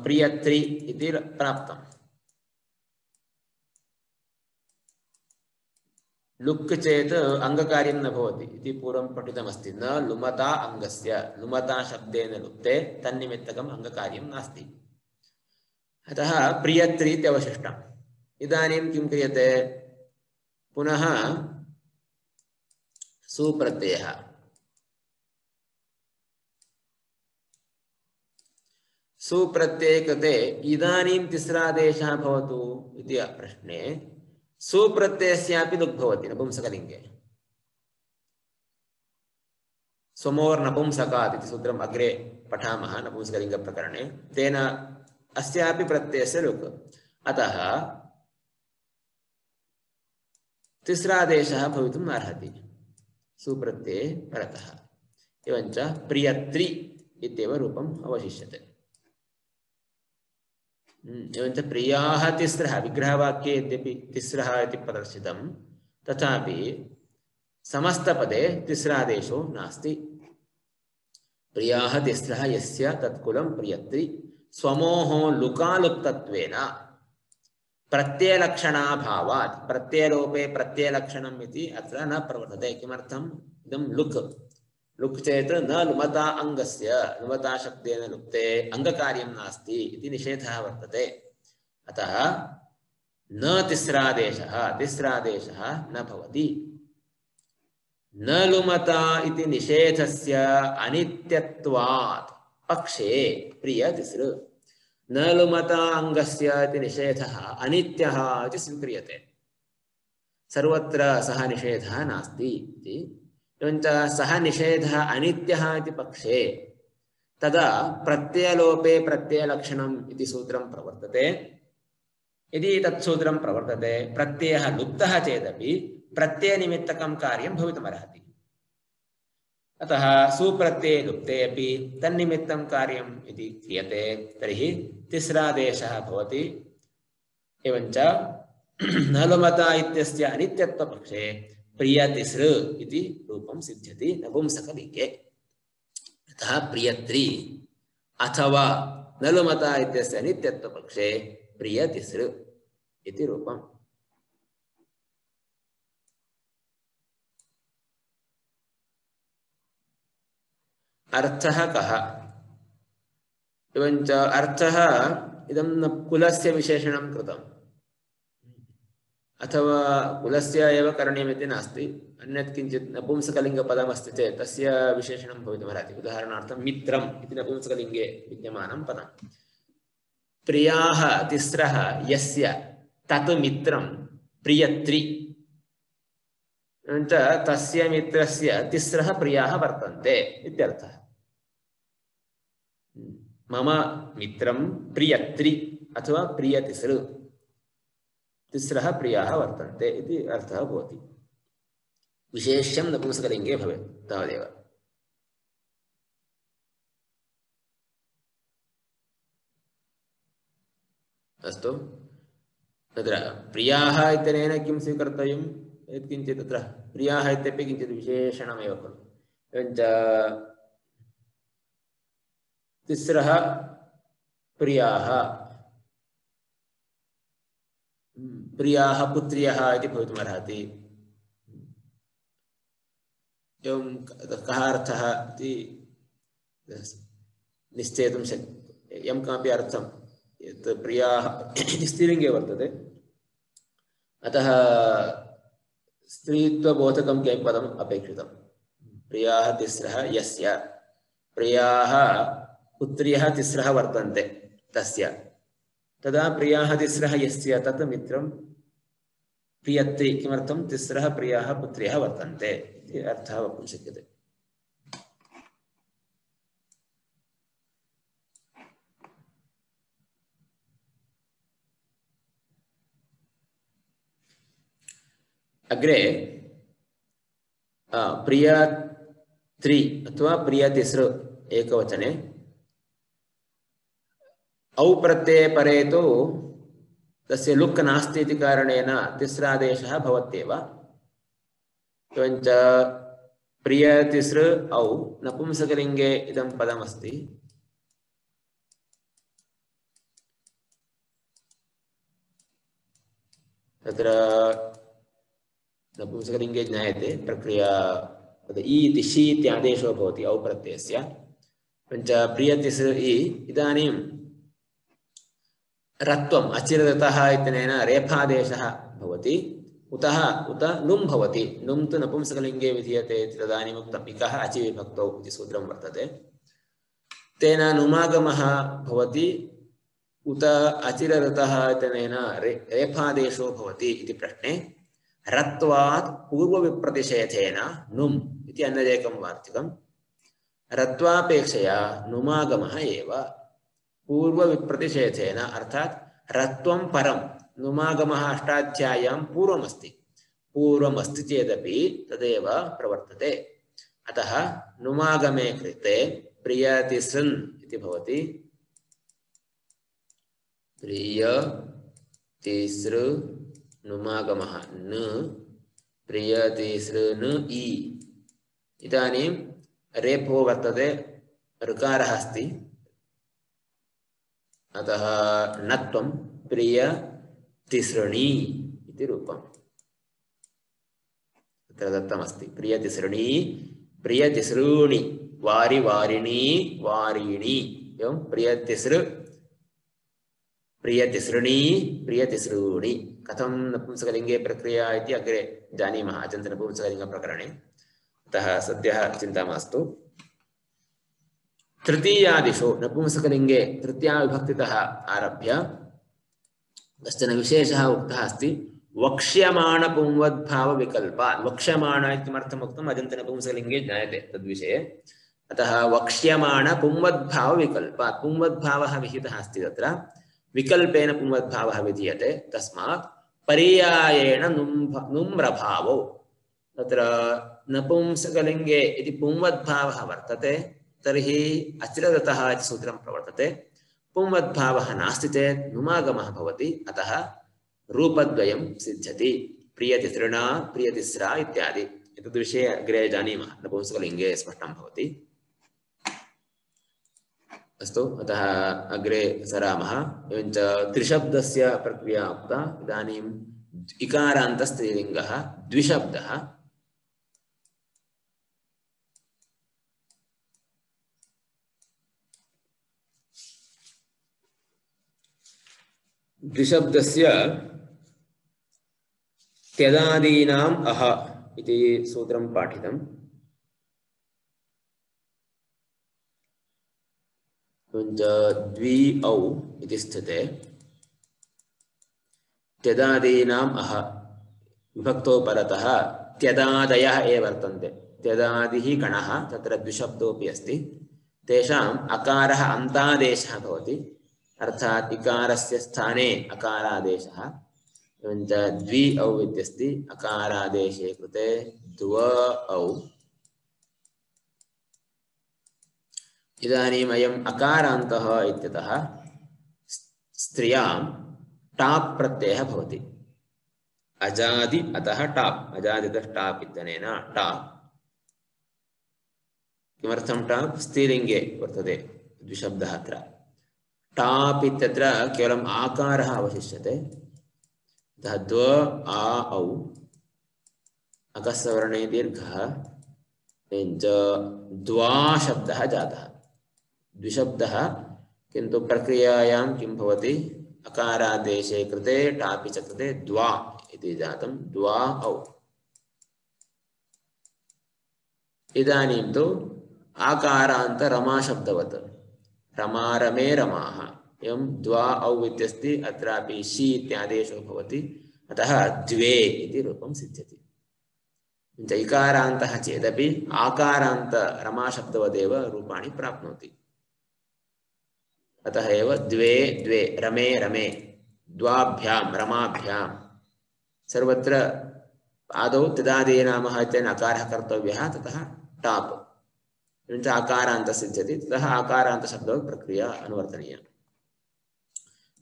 प्रियत्रि इति प्राप्तम्। लुक् चेत् अङ्गकार्यं न भवति इति पूर्वं पठितमस्ति। न लुमता अङ्गस्य, लुमता शब्देन लुप्ते तन्निमित्तकम् अङ्गकार्यं नास्ति। अतः प्रियत्रि इत्यवशिष्टम्। इदानीं किं क्रियते? पुनः सुप्रत्ययः। सुप्रत्यये कृते इदानीं तिस्रादेशः भवतु इति प्रश्ने सुप्रत्ययस्यापि लुक् भवति नपुंसकलिङ्गे। स्वमोर्नपुंसकात् इति सूत्रम् अग्रे पठामः नपुंसकलिङ्गप्रकरणे। तेन अस्यापि प्रत्ययस्य लुक्। अतः तिस्रादेशः भवितुम् अर्हति सुप्रत्यये परतः। एवञ्च प्रियत्रि इत्येव रूपम् अवशिष्यते। एवञ्च प्रियाः तिस्रः विग्रहवाक्ये यद्यपि तिस्रः इति प्रदर्शितं, तथापि समस्तपदे तिस्रादेशो नास्ति। प्रियाः तिस्रः यस्य तत्कुलं प्रियत्रि। स्वमोः लुकालुप्तत्वेन प्रत्ययलक्षणाभावात्, प्रत्ययलोपे प्रत्ययलक्षणम् इति अत्र न प्रवर्तते। किमर्थम्? इदं लुक्। लुक् चेत् न लुमता अङ्गस्य, लुमता शब्देन लुप्ते अङ्गकार्यं नास्ति इति निषेधः वर्तते। अतः न तिस्रादेशः न भवति। न लुमता इति निषेधस्य अनित्यत्वात् पक्षे प्रिय तिसृ। न लुमता अंगस्य इति निषेधः अनित्यः इति स्वीक्रियते। सर्वत्र सः निषेधः नास्ति इति। एवञ्च सः निषेधः अनित्यः इति पक्षे तदा प्रत्ययलोपे प्रत्ययलक्षणम् इति सूत्रं प्रवर्तते। यदि तत्सूत्रं प्रवर्तते प्रत्ययः लुप्तः चेदपि प्रत्ययनिमित्तकं कार्यं भवितुमर्हति। अतः सुप्रत्यये लुप्ते अपि तन्निमित्तं कार्यम् इति क्रियते तर्हि तिस्रादेशः भवति। एवञ्च न लुमता इत्यस्य अनित्यत्वपक्षे प्रियतिसृ इति रूपं सिद्ध्यति नपुंसकलिङ्गे। अतः प्रियत्री अथवा न लुमता इत्यस्य अनित्यत्वपक्षे प्रियतिसृ इति रूपम्। अर्थः कः? एवञ्च अर्थः इदं कुलस्य विशेषणं कृतम् अथवा कुलस्य एव करणीयमिति नास्ति। अन्यत् किञ्चित् नपुंसकलिङ्गपदमस्ति चेत् तस्य विशेषणं भवितुमर्हति। उदाहरणार्थं मित्रम् इति नपुंसकलिङ्गे विद्यमानं पदम्। प्रियाः तिस्रः यस्य तत् मित्रं प्रियत्री। एवञ्च तस्य मित्रस्य तिस्रः प्रियाः वर्तन्ते इत्यर्थः। मम मित्रं प्रियत्री अथवा प्रियतिसृ, तिस्रः प्रियाः वर्तन्ते इति अर्थः भवति। विशेष्यं नपुंसकलिङ्गे भवेत् तावदेव। अस्तु, तत्र प्रियाः इत्यनेन किं स्वीकर्तव्यं? यत्किञ्चित् तत्र प्रियाः इत्यपि किञ्चित् विशेषणमेव खलु। एवञ्च तिस्रः प्रियाः, प्रियाः पुत्र्यः इति भवितुमर्हति। एवं कः अर्थः इति निश्चेतुं शक्यते। यं किमपि अर्थं यत् प्रियाः स्त्रीलिङ्गे वर्तते, अतः स्त्रीत्वबोधकं किमपि पदम् अपेक्षितं। प्रियाः तिस्रः यस्य, प्रियाः पुत्र्यः तिस्रः वर्तन्ते तस्य, तदा प्रियाः तिस्रः यस्य तत् मित्रं प्रियत्री। किमर्थं? तिस्रः प्रियाः पुत्र्यः वर्तन्ते इति अर्थः वक्तुं शक्यते। अग्रे प्रियत्री अथवा प्रियतिसृ एकवचने औ प्रत्यये परे तु तस्य लुक् नास्ति इति कारणेन तिस्रादेशः भवत्येव। एवञ्च प्रियतिसृ औ नपुंसकलिङ्गे इदं पदमस्ति। तत्र नपुंसकलिङ्गे ज्ञायते प्रक्रिया इ इति शी इत्यादेशो भवति औ प्रत्ययस्य। एवञ्च प्रियतिसृ इ इदानीं रत्वम् अचिरतः इत्यनेन रेफादेशः भवति। उतः उत नुम् भवति। नुम् तु नपुंसकलिङ्गे विधीयते इति तदानीम् उक्तम्। इकः अचि विभक्तौ इति सूत्रं वर्तते। तेन नुमागमः भवति। उत अचिरतः इत्यनेन रेफादेशो भवति इति प्रश्ने रत्वात् पूर्वविप्रतिषेधेन नुम् इति अन्यदेकं वार्तिकम्। रत्वापेक्षया नुमागमः एव पूर्वविप्रतिषेधेन, अर्थात् रत्वं परं नुमागमः अष्टाध्याय्यां पूर्वमस्ति। पूर्वमस्ति चेदपि तदेव प्रवर्तते। अतः नुमागमे कृते प्रियतिसृन् इति भवति। प्रियतिसृ नुमागमः न प्रियतिसृन् इ। इदानीं रेफो वर्तते, ऋकारः अस्ति, अतः नत्वं प्रियतिसृणी इति रूपम् तत्र दत्तमस्ति। प्रियतिसृणी, प्रियतिसॄणि, वारि वारिणी वारीणि। एवं प्रियतिसृ, प्रियतिसृणी, प्रियतिसॄणि कथं नपुंसकलिङ्गे प्रक्रिया इति अग्रे जानीमः अजन्तनपुंसकलिङ्गप्रकरणे। अतः सद्यः चिन्ता मास्तु। तृतीयादिषु नपुंसकलिङ्गे तृतीयाविभक्तितः आरभ्य कश्चन विशेषः उक्तः अस्ति वक्ष्यमाणपुंवद्भावविकल्पात्। वक्ष्यमाण इत्यर्थम् उक्तम् अजन्तनपुंसकलिङ्गे ज्ञायते तद्विषये। अतः वक्ष्यमाणपुंवद्भावविकल्पात् पुंवद्भावः विहितः अस्ति तत्र विकल्पेन पुंवद्भावः विधीयते तस्मात् पर्यायेण नुम्रभावो तत्र नपुंसकलिङ्गे इति पुंवद्भावः वर्तते तर्हि अचिरदतः इति सूत्रं प्रवर्तते। पुंवद्भावः नास्ति चेत् नुमागमः भवति अतः रूपद्वयं सिद्ध्यति प्रियतिसृणा प्रियतिस्रा इत्यादि। एतद्विषये अग्रे जानीमः नपुंसकलिङ्गे स्पष्टं भवति। अस्तु अतः अग्रे सरामः। एवञ्च त्रिशब्दस्य प्रक्रिया उक्ता। इदानीम् इकारान्तस्त्रीलिङ्गः द्विशब्दः। द्विशब्दस्य त्यदादीनाम् अह इति सूत्रं पाठितम्। द्वि औ इति स्थिते त्यदादीनाम् अह विभक्तो परतः त्यदादयः एव वर्तन्ते। त्यदादिः गणः तत्र द्विशब्दोऽपि अस्ति। तेषाम् अकारः अन्तादेशः भवति अर्थात् इकारस्य स्थाने अकारादेशः। एवञ्च द्वि औ इत्यस्ति अकारादेशे कृते द्व औ। इदानीम् अयम् अकारान्तः इत्यतः स्त्रियां टाप् प्रत्ययः भवति। अजादि अतः टाप् अजादितः टाप् इत्यनेन टाप्। किमर्थं टाप्? स्त्रीलिङ्गे वर्तते द्विशब्दः अत्र। टाप् इत्यत्र केवलम् आकारः अवशिष्यते। अतः द्व आ औ अकस्वर्णे दीर्घः एवञ्च द्वा शब्दः जातः। द्विशब्दः किन्तु प्रक्रियायां किं भवति? अकारादेशे कृते टापि च कृते द्वा इति जातं। द्वा औ। इदानीं तु आकारान्त रमाशब्दवत् रमा रमे रमाः एवं द्वा औ इत्यस्ति। अत्रापि शी इत्यादेशो भवति अतः द्वे इति रूपं सिद्ध्यति। इकारान्तः चेदपि आकारान्त रमाशब्दवदेव रूपाणि प्राप्नोति। अतः एव द्वे द्वे रमे रमे द्वाभ्यां रमाभ्यां सर्वत्र आदौ त्यदादीनामः इत्यनेन अकारः कर्तव्यः ततः टाप् एवञ्च आकारान्त सिद्ध्यति ततः आकारान्तशब्दः प्रक्रिया अनुवर्तनीया।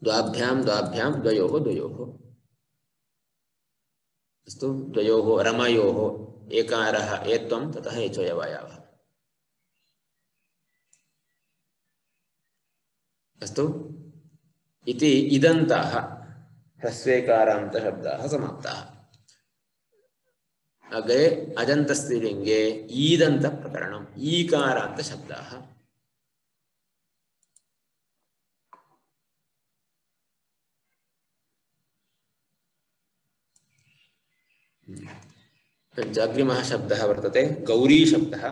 द्वाभ्यां द्वाभ्यां द्वयोः द्वयोः। अस्तु द्वयोः रमयोः एकारः एत्वं ततः एचोयवायावः। अस्तु इति इदन्ताः ह्रस्वेकारान्तशब्दाः समाप्ताः। अग्रे अजन्तस्त्रीलिङ्गे ईदन्तप्रकरणम् ईकारान्तशब्दाः। अग्रिमः शब्दः वर्तते गौरी शब्दः।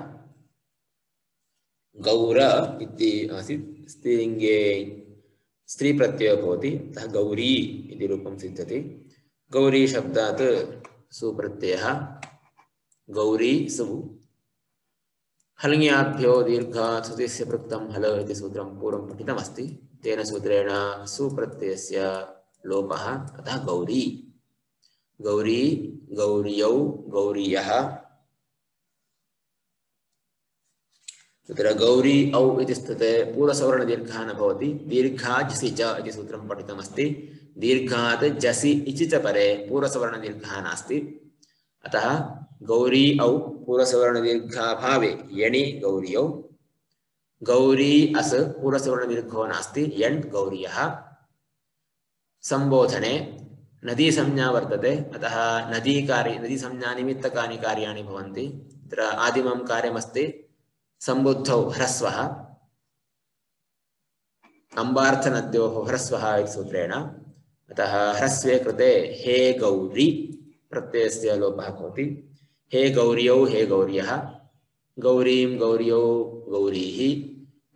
गौर इति आसीत् स्त्रीलिङ्गे स्त्रीप्रत्ययो भवति अतः गौरी इति रूपं सिद्ध्यति। गौरी शब्दात् सुप्रत्ययः गौरी सु। हल्ङ्याभ्यो दीर्घात् सुतिस्य पृक्तं हल इति सूत्रं पूर्वं पठितमस्ति। तेन सूत्रेण सुप्रत्ययस्य लोपः अतः गौरी। गौरी गौर्यौ गौरीयः। तत्र गौरी औ इति स्थिते पूर्वसवर्णदीर्घः न भवति। दीर्घात् जसि च इति सूत्रं पठितमस्ति। दीर्घात् जसि इति च परे पूर्वसवर्णदीर्घः नास्ति अतः गौरी औ पूर्वसवर्णदीर्घाभावे यणि गौर्यौ। गौरी अस् पूर्वसवर्णदीर्घो नास्ति यण् गौर्यः। संबोधने नदी संज्ञा वर्तते अतः नदी संज्ञा निमित्तकानि कार्याणि भवन्ति। तत्र आदिमं कार्यमस्ति संबुद्धौ ह्रस्वः अम्बार्थनद्योः ह्रस्वः इति सूत्रेण अतः ह्रस्वे कृते हे गौरी प्रत्ययस्य लोपः भवति। हे गौर्यौ हे गौर्यः, गौरीं गौर्यौ गौरीः,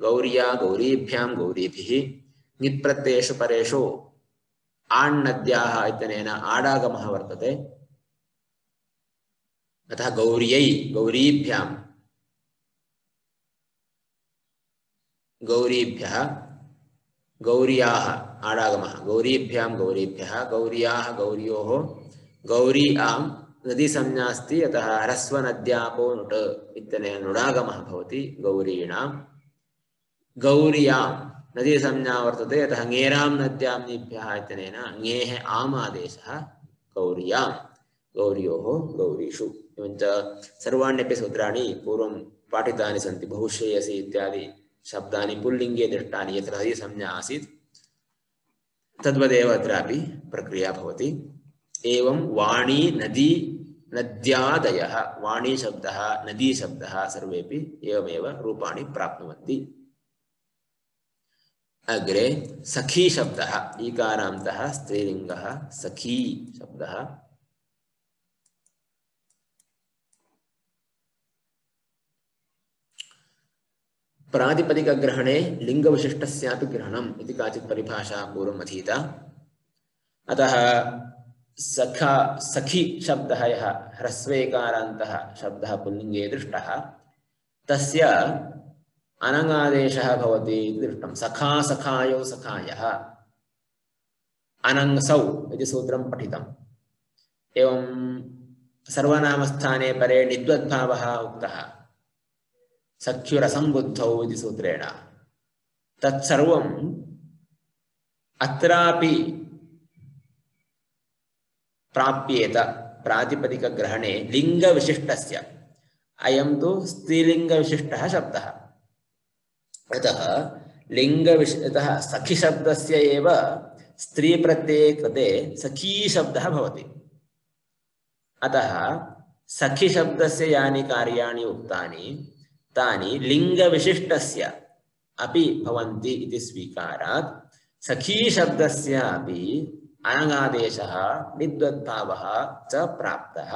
गौर्या गौरीभ्यां गौरीभिः। नित्प्रत्ययेषु परेषु आण्णद्याः इत्यनेन आडागमः वर्तते। अतः गौर्यै गौरीभ्यां गौरीभ्यः, गौर्याः आडागमः गौरीभ्यां गौरीभ्यः, गौर्याः गौर्योः, गौरी आं नदी संज्ञा अस्ति। अतः ह्रस्वनद्यापो नुट् इत्यनेन नुडागमः भवति गौरीणां। गौर्यां नदी संज्ञा वर्तते, अतः ङेरां नद्यां नीभ्यः इत्यनेन ङेः आम् आदेशः गौर्यां गौर्योः गौरीषु। एवञ्च सर्वाण्यपि सूत्राणि पूर्वं पाठितानि सन्ति। बहुश्रेयसी इत्यादि शब्दानि पुल्लिङ्गे दृष्टानि यत्र नदी संज्ञा आसीत् तद्वदेव अत्रापि प्रक्रिया भवति। एवं वाणी नदी नद्यादयः, वाणी शब्दः नदी शब्दः सर्वेपि एवमेव रूपाणि प्राप्नुवन्ति। अग्रे सखी शब्दः, ईकारान्तः स्त्रीलिङ्गः सखी शब्दः। प्रातिपदिकग्रहणे लिङ्गविशिष्टस्यापि ग्रहणम् इति काचित् परिभाषा पूर्वम् अधीता। अतः सखा सखी शब्दः यः ह्रस्वेकारान्तः शब्दः पुल्लिङ्गे दृष्टः तस्य अनङादेशः भवति इति दृष्टं। सखा सखायौ सखायः अनङ्सौ इति सूत्रं पठितम्। एवं सर्वनामस्थाने परे निद्वद्भावः उक्तः सख्युरसम्बुद्धौ इति सूत्रेण। तत्सर्वम् अत्रापि प्राप्येत प्रातिपदिकग्रहणे लिङ्गविशिष्टस्य। अयं तु स्त्रीलिङ्गविशिष्टः शब्दः। अतः लिङ्गविशिष्टः सखी शब्दस्य एव स्त्रीप्रत्यये कृते सखी शब्दः भवति। अतः सखी शब्दस्य यानि कार्याणि उक्तानि तानि लिङ्गविशिष्टस्य अपि भवन्ति इति स्वीकारात् सखी शब्दस्यापि अनङादेशः निद्वद्भावः च प्राप्तः।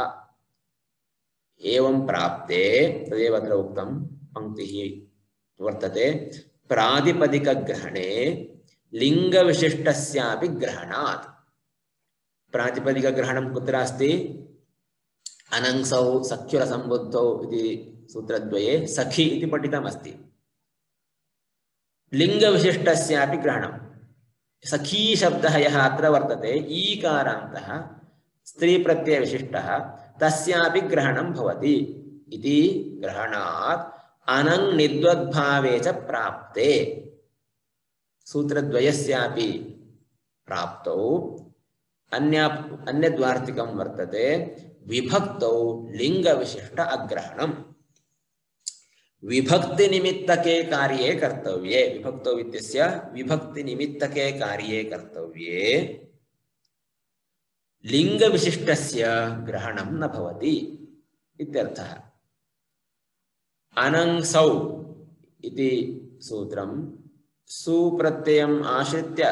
एवं प्राप्ते तदेव अत्र उक्तं पङ्क्तिः वर्तते प्रातिपदिकग्रहणे लिङ्गविशिष्टस्यापि ग्रहणात्। प्रातिपदिकग्रहणं कुत्र अस्ति? अनङ्सौ सख्युरसम्बुद्धौ इति सूत्रद्वये सखी इति पठितमस्ति। लिङ्गविशिष्टस्यापि ग्रहणं सखी शब्दः यः अत्र वर्तते ईकारान्तः स्त्रीप्रत्ययविशिष्टः तस्यापि ग्रहणं भवति इति ग्रहणात् अनङ् निद्वद्भावे च प्राप्ते सूत्रद्वयस्यापि प्राप्तौ अन्यद्वार्तिकं वर्तते विभक्तौ लिङ्गविशिष्ट अग्रहणम्। विभक्तिनिमित्तके कार्ये कर्तव्ये, विभक्तौ इत्यस्य विभक्तिनिमित्तके कार्ये कर्तव्ये लिङ्गविशिष्टस्य ग्रहणं न भवति इत्यर्थः। अनङ्सौ इति सूत्रं सुप्रत्ययम् आश्रित्य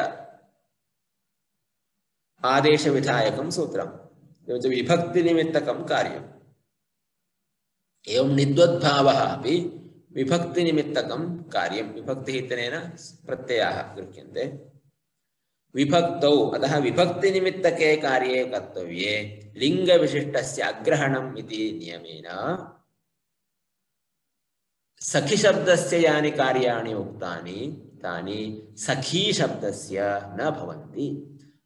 आदेशविधायकं सूत्रम्, एवञ्च विभक्तिनिमित्तकं कार्यम्। एवं निद्वद्भावः अपि विभक्तिनिमित्तकं कार्यं। विभक्तिः इत्यनेन प्रत्ययाः गृह्यन्ते। विभक्तौ अतः विभक्तिनिमित्तके कार्ये कर्तव्ये लिङ्गविशिष्टस्य अग्रहणम् इति नियमेन सखी शब्दस्य यानि कार्याणि उक्तानि तानि सखी शब्दस्य न भवन्ति।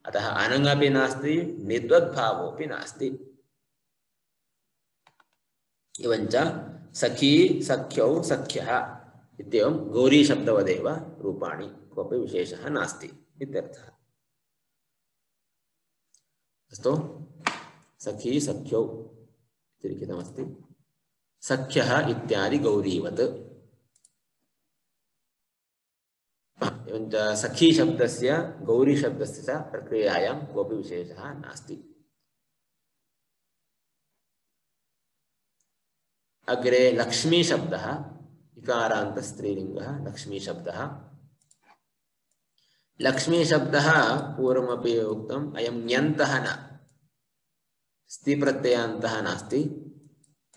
अतः अनङपि नास्ति निद्वद्भावोऽपि नास्ति। एवञ्च सखी सख्यौ सख्यः इत्येवं गौरी शब्दवदेव रूपाणि, कोऽपि विशेषः नास्ति इत्यर्थः। अस्तु, सखी सख्यौ इति लिखितमस्ति। सख्यः इत्यादि गौरीवत्। एवञ्च सखी शब्दस्य गौरी शब्दस्य च प्रक्रियायां कोऽपि विशेषः नास्ति। अग्रे लक्ष्मी शब्दः, इकारान्तस्त्रीलिङ्गः लक्ष्मी शब्दः। लक्ष्मी शब्दः पूर्वमपि उक्तम् अयं ञन्तः न स्ति प्रत्ययान्तः नास्ति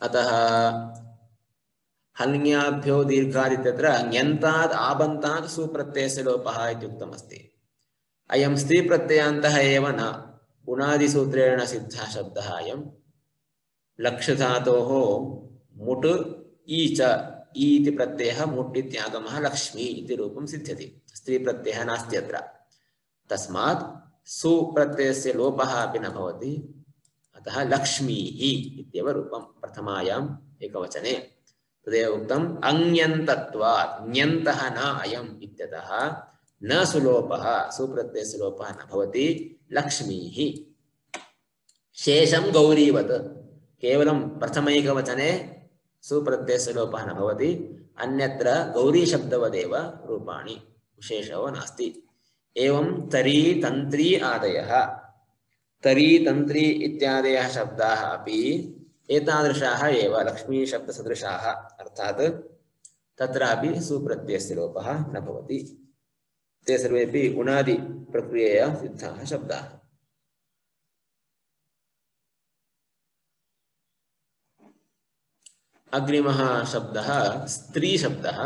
अतः हल्ङ्याभ्यो दीर्घादित्यत्र ञन्तात् आबन्तात् सुप्रत्ययस्य लोपः इति उक्तमस्ति अयं स्त्री प्रत्ययान्तः एव न उणादिसूत्रेण सिद्धः शब्दः अयं लक्ष्यधातोः मुट् ई च ई इति प्रत्ययः मुट् इत्यागमः लक्ष्मी इति रूपं सिद्ध्यति स्त्री प्रत्ययः नास्ति अत्र तस्मात् सुप्रत्ययस्य लोपः अपि न भवति अतः लक्ष्मीः इत्येव रूपं प्रथमायाम् एकवचने तदेव उक्तम् अञ्यन्तत्वात् ञन्तः न अयम् इत्यतः न सुलोपः सुप्रत्ययस्य लोपः न भवति लक्ष्मीः शेषं गौरीवत् केवलं प्रथमैकवचने सुप्रत्ययस्य लोपः न भवति अन्यत्र गौरी शब्दवदेव रूपाणि विशेषो नास्ति एवं तरी तन्त्री आदयः तरी तन्त्री इत्यादयः शब्दाः अपि एतादृशाः एव लक्ष्मी शब्दसदृशाः अर्थात् तत्रापि सुप्रत्ययस्य लोपः न भवति ते सर्वेपि उणादि प्रक्रियया सिद्धाः शब्दाः अग्रिमः शब्दः स्त्री शब्दः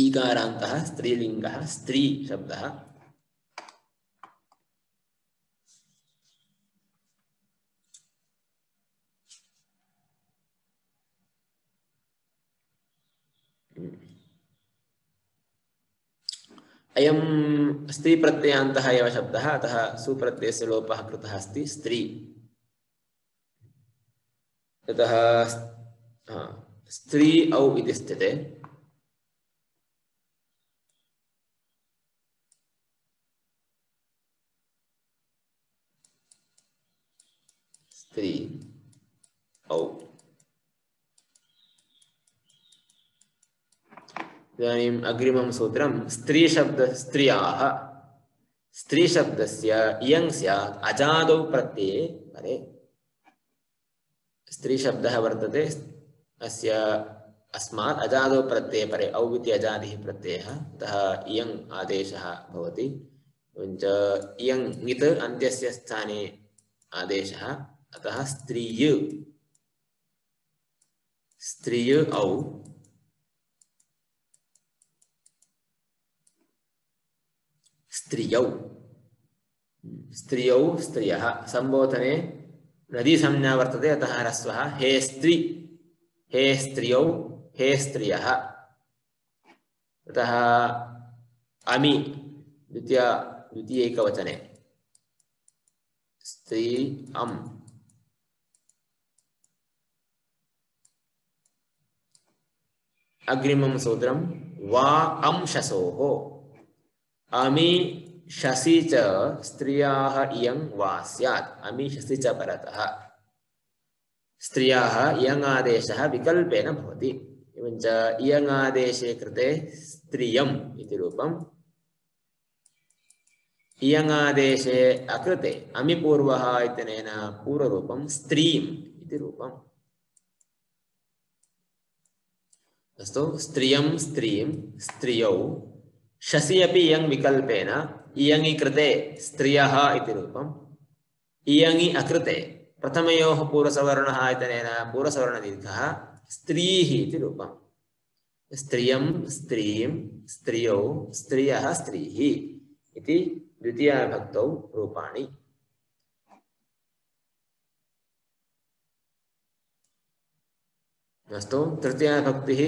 ईकारान्तः स्त्रीलिङ्गः स्त्री शब्दः अयं स्त्री प्रत्ययान्तः एव शब्दः अतः सुप्रत्ययस्य लोपः कृतः अस्ति स्त्री ततः स्त्री औ इति स्थिते स्त्री औ इदानीम् अग्रिमं सूत्रं स्त्री शब्द स्त्रियाः स्त्री शब्दस्य इयं स्यात् अजादौ प्रत्यये परे स्त्री शब्दः वर्तते अस्य अस्मात् अजादौ प्रत्यये परे औ इति अजादिः प्रत्ययः अतः इयं आदेशः भवति एवञ्च इयं ङित् अन्त्यस्य स्थाने आदेशः अतः स्त्रिय स्त्रिय औ स्त्रियौ स्त्रियौ स्त्रियः संबोधने नदी संज्ञा वर्तते अतः ह्रस्वः हे स्त्री हे स्त्रियौ हे स्त्रियः अतः अमि द्वितीयैकवचने स्त्री अम् अग्रिमं सूत्रं वा अंशसोः अमि शसि च स्त्रियाः इयं वा स्यात् अमि शसि च परतः स्त्रियाः इयं आदेशः विकल्पेन भवति एवञ्च इयं आदेशे कृते स्त्रियम् इति रूपम् इयं आदेशे अकृते अमि पूर्वः इत्यनेन पूर्वरूपं स्त्रीम् इति रूपम् अस्तु स्त्रियं स्त्रीं स्त्रियौ शसि अपि इयं विकल्पेन इयङि कृते स्त्रियः इति रूपम् इयङि अकृते प्रथमयोः पूर्वसवर्णः इत्यनेन पूर्वसवर्णदीर्घः स्त्रीः इति रूपम् स्त्रियं स्त्रीं स्त्रियौ स्त्रियः स्त्रीः इति द्वितीयाविभक्तौ रूपाणि अस्तु तृतीयाविभक्तिः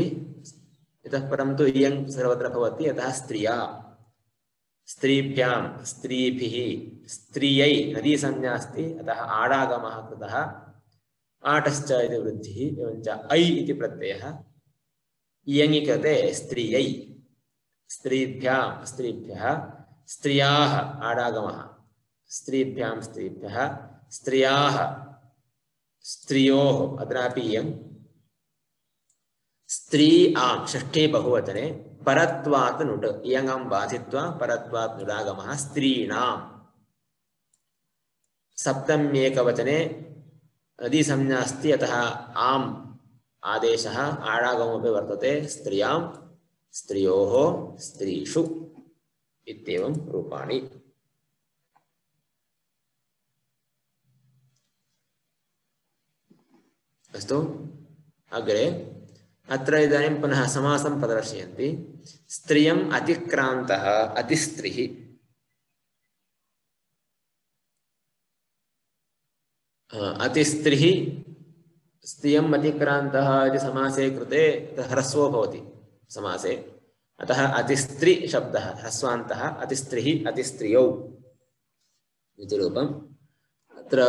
इतः परं तु इयं सर्वत्र भवति अतः स्त्रिया स्त्रीभ्यां स्त्रीभिः स्त्रियै नदी संज्ञा अस्ति अतः आडागमः कृतः आटश्च इति वृद्धिः एवञ्च ऐ इति प्रत्ययः इयङि कृते स्त्रियै स्त्रीभ्यां स्त्रीभ्यः स्त्रियाः आडागमः स्त्रीभ्यां स्त्रीभ्यः स्त्रियाः स्त्रियोः अत्रापि इयं स्त्री आम् षष्ठे बहुवचने परत्वात् नुट् इयङं बाधित्वा परत्वात् नुडागमः स्त्रीणाम् सप्तम्येकवचने नदी संज्ञा अस्ति अतः आम् आदेशः आडागमोऽपि वर्तते स्त्रियां स्त्रियोः स्त्रीषु इत्येवं रूपाणि। अस्तु, अग्रे अत्र इदानीं पुनः समासं प्रदर्शयन्ति। स्त्रियम् अतिक्रान्तः अतिस्त्रिः। अतिस्त्रिः स्त्रियम् अतिक्रान्तः इति समासे कृते ह्रस्वो भवति समासे, अतः अतिस्त्रि शब्दः ह्रस्वान्तः, अतिस्त्रिः अतिस्त्रियौ इति रूपम्। अत्र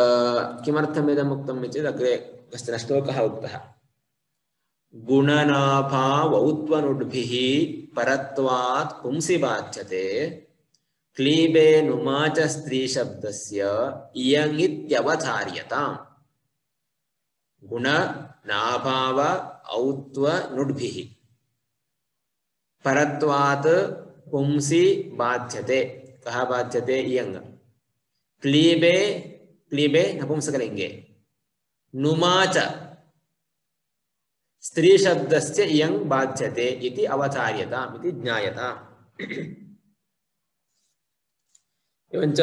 किमर्थम् इदम् उक्तम् चेत् अग्रे कश्चन श्लोकः उक्तः। गुणनाभावौत्वनुड्भिः परत्वात् पुंसि बाध्यते क्लीबे नुमाच स्त्रीशब्दस्य इयङित्यवधार्यताम्। गुणनाभाव औत्वनुड्भिः परत्वात् पुंसि बाध्यते। कः बाध्यते? इयङ। क्लीबे, क्लीबे नपुंसकलिङ्गे, नुमाच स्त्री शब्दस्य इयं बाध्यते इति अवधार्यताम् इति ज्ञायताम्। एवञ्च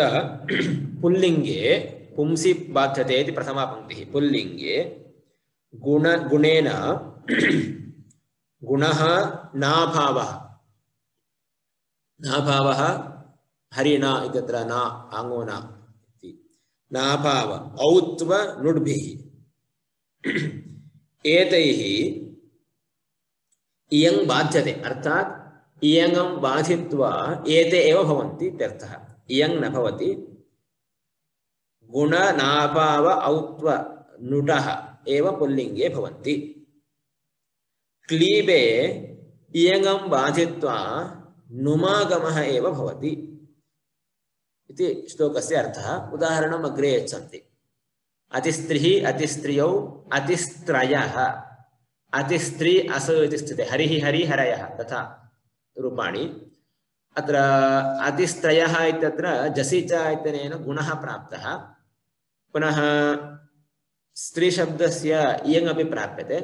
पुल्लिङ्गे पुंसि बाध्यते इति प्रथमा पंक्तिः। पुल्लिङ्गे गुणेन गुणः नाभावः, नाभावः हरिणा इत्यत्र ना आङ्गो न इति नाभाव औत्व नुड्भिः एतैः इयं बाध्यते, अर्थात् इयङं बाधित्वा एते एव भवन्ति इत्यर्थः। इयं न भवति, गुण नाभाव औत्व नुडः एव पुल्लिङ्गे भवन्ति। क्लीबे इयङं बाधित्वा नुमागमः एव भवति इति श्लोकस्य अर्थः। उदाहरणम् अग्रे यच्छन्ति। अतिस्त्रिः अतिस्त्रियौ अतिस्त्रयः, अतिस्त्री अस इति स्थिते हरिः हरि हरयः तथा रूपाणि। अत्र अतिस्त्रयः इत्यत्र जसि च इत्यनेन गुणः प्राप्तः, पुनः स्त्रीशब्दस्य इयङपि प्राप्यते।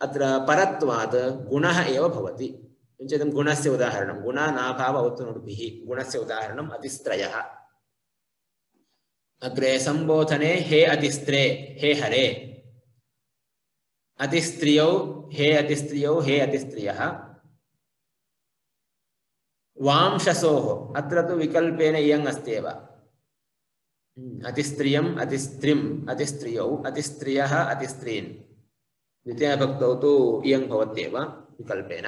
अत्र परत्वात् गुणः एव भवति। किञ्चित् गुणस्य उदाहरणं गुणनाभाव औत्वनुड्भिः, गुणस्य उदाहरणम् अतिस्त्रयः। अग्रे संबोधने हे अतिस्त्रे हे हरे, अतिस्त्रियौ हे अतिस्त्रियौ हे अतिस्त्रियः। वांशसोः अत्र तु विकल्पेन इयङ अस्त्येव। अतिस्त्रियम् अतिस्त्रिम् अतिस्त्रियौ अतिस्त्रियः अतिस्त्रीन्, द्वितीयभक्तौ तु इयङ भवत्येव विकल्पेन।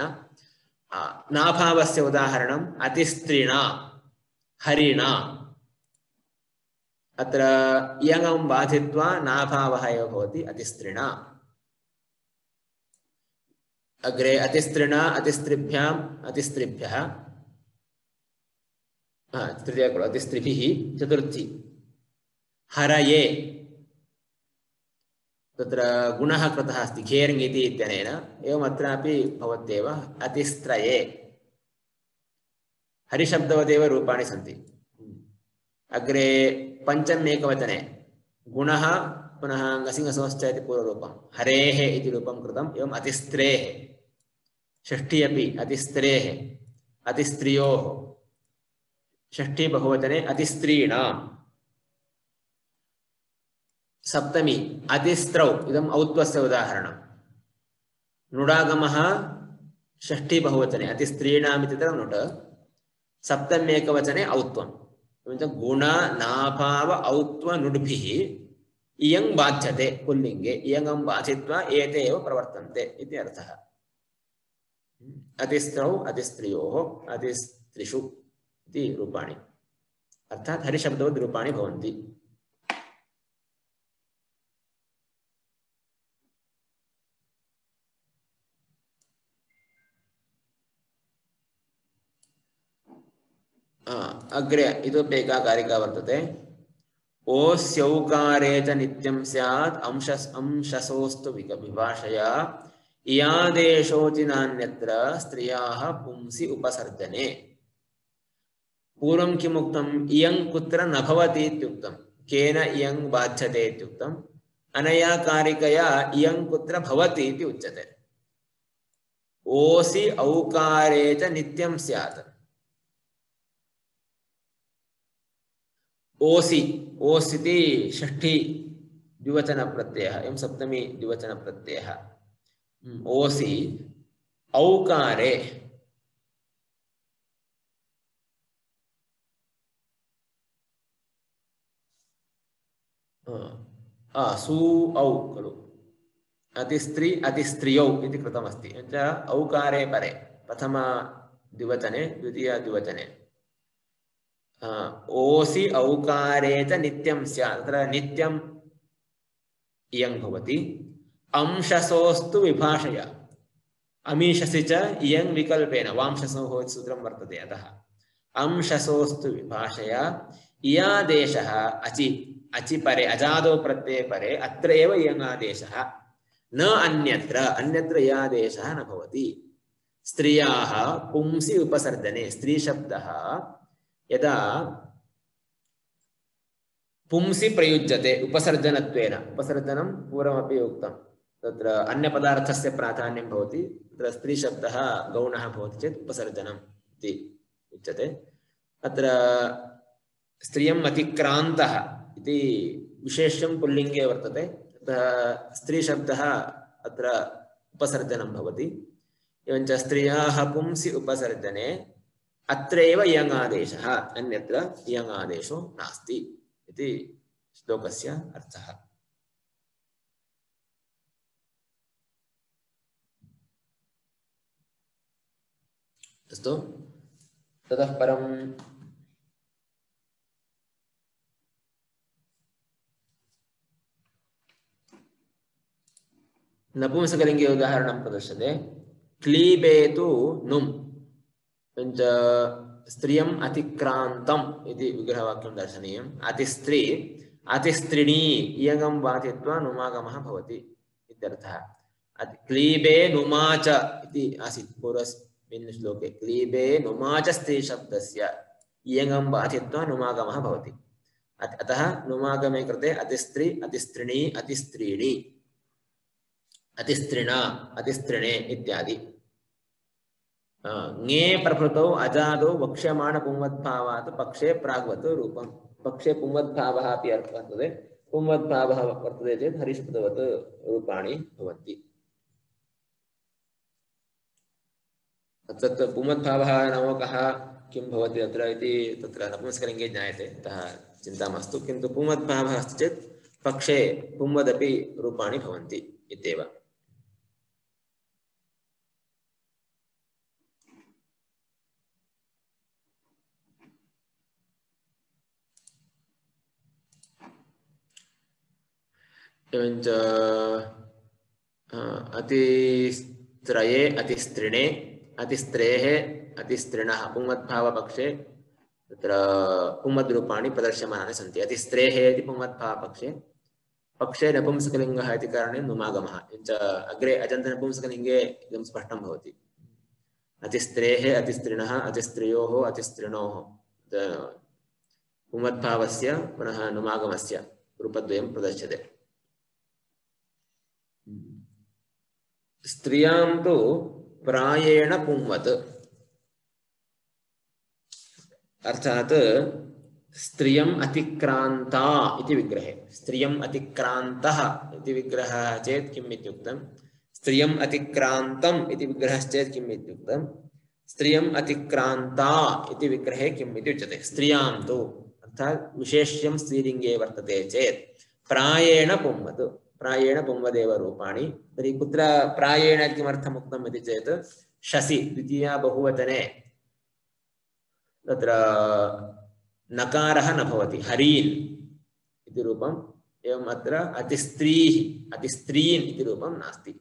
नाभावस्य उदाहरणम् अतिस्त्रिणा हरिणा, अत्र इयङं बाधित्वा नाभावः एव भवति अतिस्त्रिणा। अग्रे अतिस्त्रिणा अतिस्त्रिभ्याम् अतिस्त्रिभ्यः, तृतीया खलु, अतिस्त्रिभिः चतुर्थी। हरये तत्र गुणः कृतः अस्ति घेर्ङ् इति इत्यनेन, एवम् अत्रापि भवत्येव अतिस्त्रये। हरिशब्दवदेव रूपाणि सन्ति। अग्रे पञ्चम एकवचने गुणः पुनः ngसिङसोश्च इति पूर्वरूपं हरेः इति रूपं कृतम्। एवम् अतिस्त्रेः, षष्ठी अपि अतिस्त्रेः अतिस्त्रियोः, षष्ठी बहुवचने अतिस्त्रीणाम्। सप्तमी अतिस्त्रौ, इदम् औत्वस्य उदाहरणं। नुडागमः षष्ठी बहुवचने अतिस्त्रीणाम् इति नुड, सप्तम्येकवचने औत्वम्। गुण नाभाव औत्व नुड्भिः इयं बाध्यते पुल्लिङ्गे, इयङं बाधित्वा एते एव प्रवर्तन्ते इति अर्थः। अतिस्त्रौ अतिस्त्रियोः अतिस्त्रिषु इति रूपाणि, अर्थात् हरिशब्दवद् रूपाणि भवन्ति। अग्रे इतोपि एका कारिका वर्तते। ओस्यौकारे च नित्यं स्यात् अंशसोस्तु विभाषया इयादेशोऽचि नान्यत्र स्त्रियाः पुंसि उपसर्जने। पूर्वं किमुक्तम्? इयं कुत्र न भवति इत्युक्तं, केन इयं बाध्यते इत्युक्तम्। अनया कारिकया इयं कुत्र भवति इति उच्यते। ओसि औकारे च नित्यं स्यात्, ओसि ओस् इति षष्ठी द्विवचनप्रत्ययः एवं सप्तमी द्विवचनप्रत्ययः ओसि औकारे सु औ खलु अतिस्त्री अतिस्त्रियौ इति कृतमस्ति औकारे परे प्रथम द्विवचने द्वितीय द्विवचने ओसि औकारे च नित्यं स्यात् तत्र नित्यं इयं भवति अंशसोस्तु विभाषया अमीशसि च इयं विकल्पेन वांशसोः सूत्रं वर्तते अतः अंशसोस्तु विभाषया इयादेशः अचि अचि परे अजादो प्रत्यये परे अत्र एव इयम् आदेशः न अन्यत्र अन्यत्र इयादेशः न भवति स्त्रियाः पुंसि उपसर्जने स्त्री शब्दः यदा पुंसि प्रयुज्यते उपसर्जनत्वेन उपसर्जनं पूर्वमपि उक्तं तत्र अन्यपदार्थस्य प्राधान्यं भवति तत्र स्त्री शब्दः गौणः भवति चेत् उपसर्जनम् इति उच्यते अत्र स्त्रियम् अतिक्रान्तः इति विशेष्यं पुल्लिङ्गे वर्तते अतः स्त्री शब्दः अत्र उपसर्जनं भवति एवञ्च स्त्रियाः पुंसि उपसर्जने अत्रैव इयम् आदेशः अन्यत्र इयम् आदेशो नास्ति इति श्लोकस्य अर्थः अस्तु ततः परं नपुंसकलिङ्गे उदाहरणं प्रदर्श्यते क्लीबेतु नुम् स्त्रियम् अतिक्रान्तम् इति विग्रहवाक्यं दर्शनीयम् अतिस्त्री अतिस्त्रिणी इयगं बाधित्वा नुमागमः भवति इत्यर्थः क्लीबे नुमाच इति आसीत् पूर्वस्मिन् श्लोके क्लीबे नुमाच स्त्री शब्दस्य इयगं बाधित्वा नुमागमः भवति अतः नुमागमे कृते अतिस्त्री अतिस्त्रिणी अतिस्त्रीणि अतिस्त्रिणा अतिस्त्रिणे इत्यादि ङे प्रभृतौ अजादौ वक्ष्यमाण पुंवद्भावात् पक्षे प्राग्वत् रूपं पक्षे पुंवद्भावः अपि वर्तते पुंवद्भावः वर्तते चेत् हरिष्पदवत् रूपाणि भवन्ति तत् पुंवद्भावः नाम कः किं भवति अत्र इति तत्र नपुंसकलिङ्गे ज्ञायते अतः चिन्ता मास्तु किन्तु पुंवद्भावः अस्ति चेत् पक्षे पुंवदपि रूपाणि भवन्ति इत्येव एवञ्च अतिस्त्रये अतिस्त्रिणे अतिस्त्रेः अतिस्त्रिणः पुंवद्भावपक्षे तत्र पुंवद्रूपाणि प्रदर्श्यमानानि सन्ति अतिस्त्रेः इति पुंवद्भावपक्षे पक्षे नपुंसकलिङ्गः इति कारणे नुमागमः एवञ्च अग्रे अजन्तनपुंसकलिङ्गे इदं स्पष्टं भवति अतिस्त्रेः अतिस्त्रिणः अतिस्त्रियोः अतिस्त्रिणोः पुंवद्भावस्य पुनः नुमागमस्य रूपद्वयं प्रदर्श्यते स्त्रियां तु प्रायेण पुंवत् अर्थात् स्त्रियम् अतिक्रान्ता इति विग्रहे स्त्रियम् अतिक्रान्तः इति विग्रहः चेत् किम् इत्युक्तं स्त्रियम् अतिक्रान्तम् इति विग्रहश्चेत् किम् इत्युक्तं स्त्रियम् अतिक्रान्ता इति विग्रहे किम् इति उच्यते स्त्रियां तु अर्थात् विशेष्यं स्त्रीलिङ्गे वर्तते चेत् प्रायेण पुंवत् प्रायेण पुंवदेव रूपाणि तर्हि कुत्र प्रायेण किमर्थम् उक्तम् इति चेत् शसि द्वितीया बहुवचने तत्र नकारः न भवति हरीन् इति रूपम् एवम् अत्र अतिस्त्रीः अतिस्त्रीन् इति रूपं नास्ति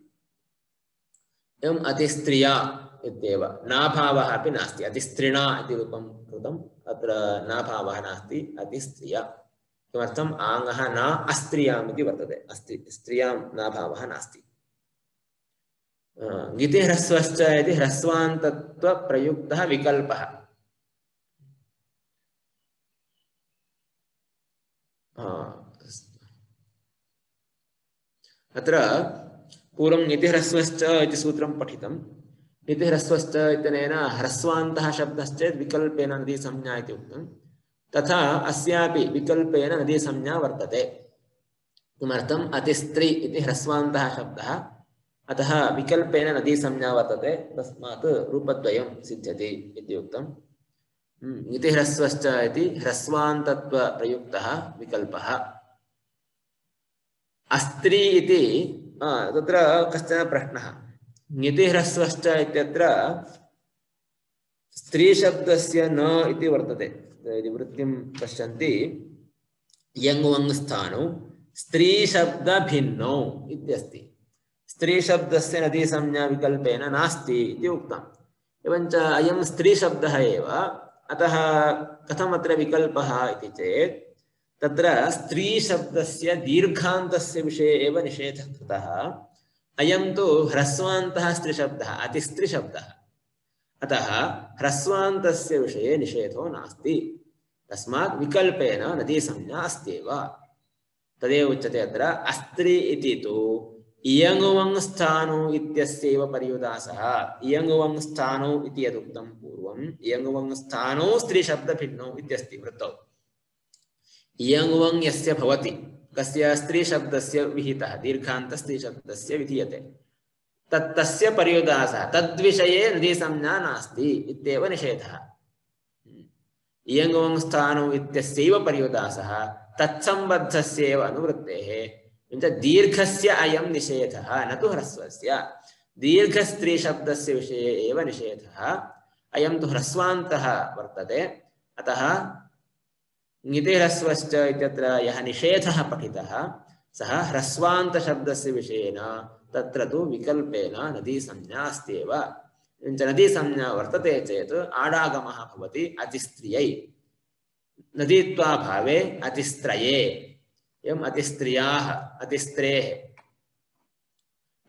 एवम् अतिस्त्रिया इत्येव नाभावः अपि नास्ति अतिस्त्रिणा इति रूपं कृतम् अत्र नाभावः नास्ति अतिस्त्रिया किमर्थम् आङ्गः न अस्त्रियाम् इति वर्तते अस्ति स्त्रियां नाभावः नास्ति ङिति ह्रस्वश्च इति ह्रस्वान्तत्वप्रयुक्तः विकल्पः अत्र पूर्वं ङिति ह्रस्वश्च इति सूत्रं पठितं ङिति ह्रस्वश्च इत्यनेन ह्रस्वान्तः शब्दश्चेत् विकल्पेन नदी संज्ञा इति उक्तं तथा अस्यापि विकल्पेन नदीसंज्ञा वर्तते। किमर्थम्? अतिस्त्री इति ह्रस्वान्तः शब्दः, अतः विकल्पेन नदीसंज्ञा वर्तते, तस्मात् रूपद्वयं सिद्ध्यति इति उक्तम्। इति ह्रस्वश्च इति ह्रस्वान्तत्वप्रयुक्तः विकल्पः। अस्त्री इति तत्र कश्चन प्रश्नः। ङिति ह्रस्वश्च इत्यत्र स्त्रीशब्दस्य न इति वर्तते। यदि वृत्तिं पश्यन्ति यङ् वङ् स्थानौ स्त्रीशब्दभिन्नौ इत्यस्ति। स्त्रीशब्दस्य नदीसंज्ञा विकल्पेन नास्ति इति उक्तम्। एवञ्च अयं स्त्रीशब्दः एव, अतः कथम् अत्र विकल्पः इति चेत् तत्र स्त्रीशब्दस्य दीर्घान्तस्य विषये एव निषेधः कृतः। अयं तु ह्रस्वान्तः स्त्रीशब्दः, अतिस्त्रीशब्दः, अतः ह्रस्वान्तस्य विषये निषेधो नास्ति। तस्मात् विकल्पेन नदीसंज्ञा अस्त्येव। तदेव उच्यते अत्र अस्त्री इति तु इयङुवङ् स्थाणु इत्यस्यैव पर्युदासः। इयङुवङ् स्थाणु इति यदुक्तं पूर्वम्, इयङुवङ् स्थाणौ स्त्रीशब्दभिन्नौ इत्यस्ति वृत्तौ। इयङुवङ् यस्य भवति, कस्य? स्त्रीशब्दस्य विहितः, दीर्घान्तस्त्रीशब्दस्य विधीयते, तस्य पर्युदासः, तद्विषये नदीसंज्ञा नास्ति इत्येव निषेधः। इयङुवङ् स्थाणु इत्यस्यैव पर्युदासः, तत्सम्बद्धस्यैव अनुवृत्तेः, दीर्घस्य अयं निषेधः, न तु ह्रस्वस्य। दीर्घस्त्रीशब्दस्य विषये एव निषेधः। अयं तु ह्रस्वान्तः वर्तते, अतः ङिति ह्रस्वश्च इत्यत्र यः निषेधः पठितः सः ह्रस्वान्तशब्दस्य विषयेन तत्र तु विकल्पेन नदीसंज्ञा अस्त्येव। नदीसंज्ञा वर्तते चेत् आडागमः भवति अतिस्त्रियै, नदीत्वाभावे अतिस्त्रये। एवम् अतिस्त्रियाः, अतिस्त्रेः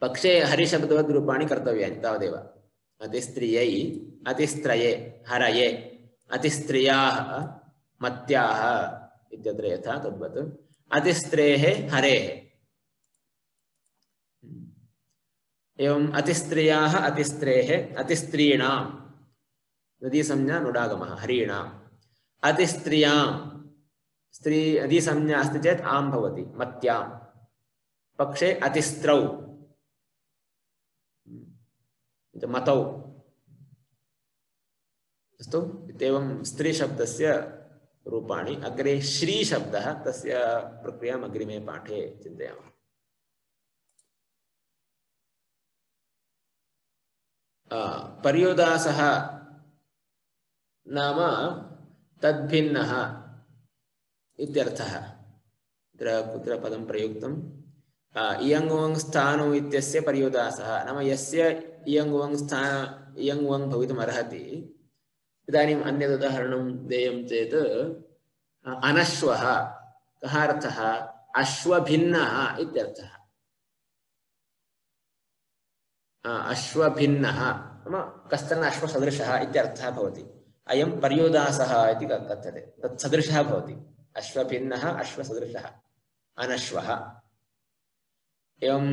पक्षे हरिशब्दवद्रूपाणि कर्तव्यानि, तावदेव। अतिस्त्रियै, अतिस्त्रये, हरये, अतिस्त्रियाः, मत्याः इत्यत्र यथा तद्वत् अतिस्त्रेः हरेः। एवम् अतिस्त्रियाः, अतिस्त्रेः, अतिस्त्रीणां नदीसंज्ञा नुडागमः हरीणाम्। अतिस्त्रियां स्त्री नदीसंज्ञा अस्ति चेत् आं भवति, मत्यां पक्षे अतिस्त्रौ मतौ। अस्तु, इत्येवं स्त्रीशब्दस्य रूपाणि। अग्रे श्रीशब्दः, तस्य प्रक्रियाम् अग्रिमे पाठे चिन्तयामः। पर्युदासः नाम तद्भिन्नः इत्यर्थः। कुत्र पदं प्रयुक्तम्? इयङुवङ् स्थाणु इत्यस्य पर्युदासः नाम यस्य इयङुवङ् इयङुवङ् भवितुम् अर्हति। इदानीम् अन्यद् उदाहरणं देयं चेत् अनश्वः। कः अर्थः? अश्वभिन्नः इत्यर्थः। अश्वभिन्नः नाम कश्चन अश्वसदृशः इत्यर्थः भवति। अयं पर्युदासः इति कथ्यते, तत्सदृशः भवति। अश्वभिन्नः, अश्वसदृशः, अनश्वः। एवं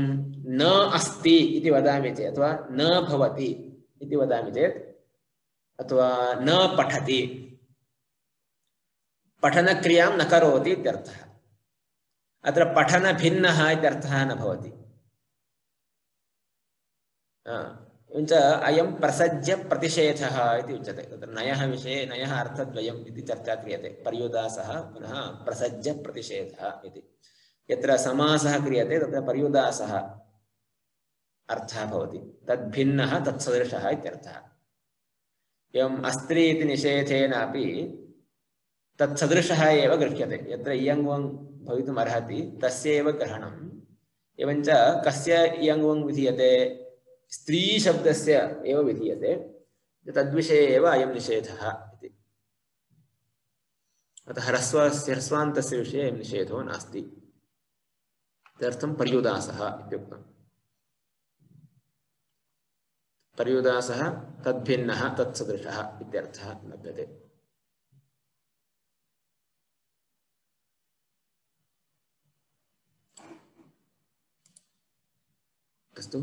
न अस्ति इति वदामि चेत्, अथवा न भवति इति वदामि चेत्, अथवा न पठति, पठनक्रियां न करोति इत्यर्थः। अत्र पठनभिन्नः इत्यर्थः न भवति। एवञ्च अयं प्रसज्य प्रतिषेधः इति उच्यते। तत्र नयः विषये नयः अर्थद्वयम् इति चर्चा क्रियते। पर्युदासः पुनः प्रसज्य प्रतिषेधः इति। यत्र समासः क्रियते तत्र पर्युदासः अर्थः भवति, तद्भिन्नः तत्सदृशः इत्यर्थः। एवम् अस्त्री इति निषेधेनापि तत्सदृशः एव गृह्यते। यत्र इयङुवङ् भवितुम् अर्हति तस्यैव ग्रहणम्। एवञ्च कस्य इयङुवङ् विधीयते? स्त्रीशब्दस्य एव विधीयते, तद्विषये एव अयं निषेधः इति। अतः ह्रस्वान्तस्य विषये अयं निषेधो नास्ति। तदर्थं पर्युदासः इत्युक्तम्। पर्युदासः तद्भिन्नः तत्सदृशः इत्यर्थः लभ्यते। अस्तु,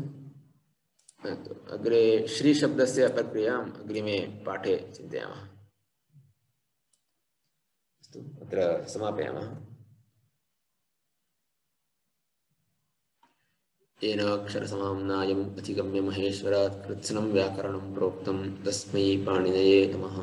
अग्रे श्रीशब्दस्य प्रक्रियाम् अग्रिमे पाठे चिन्तयामः। अस्तु अत्र समापयामः। येनाक्षरसमाम्नायम् अधिगम्य महेश्वरात् कृत्स्नं व्याकरणं प्रोक्तं तस्मै पाणिनये नमः।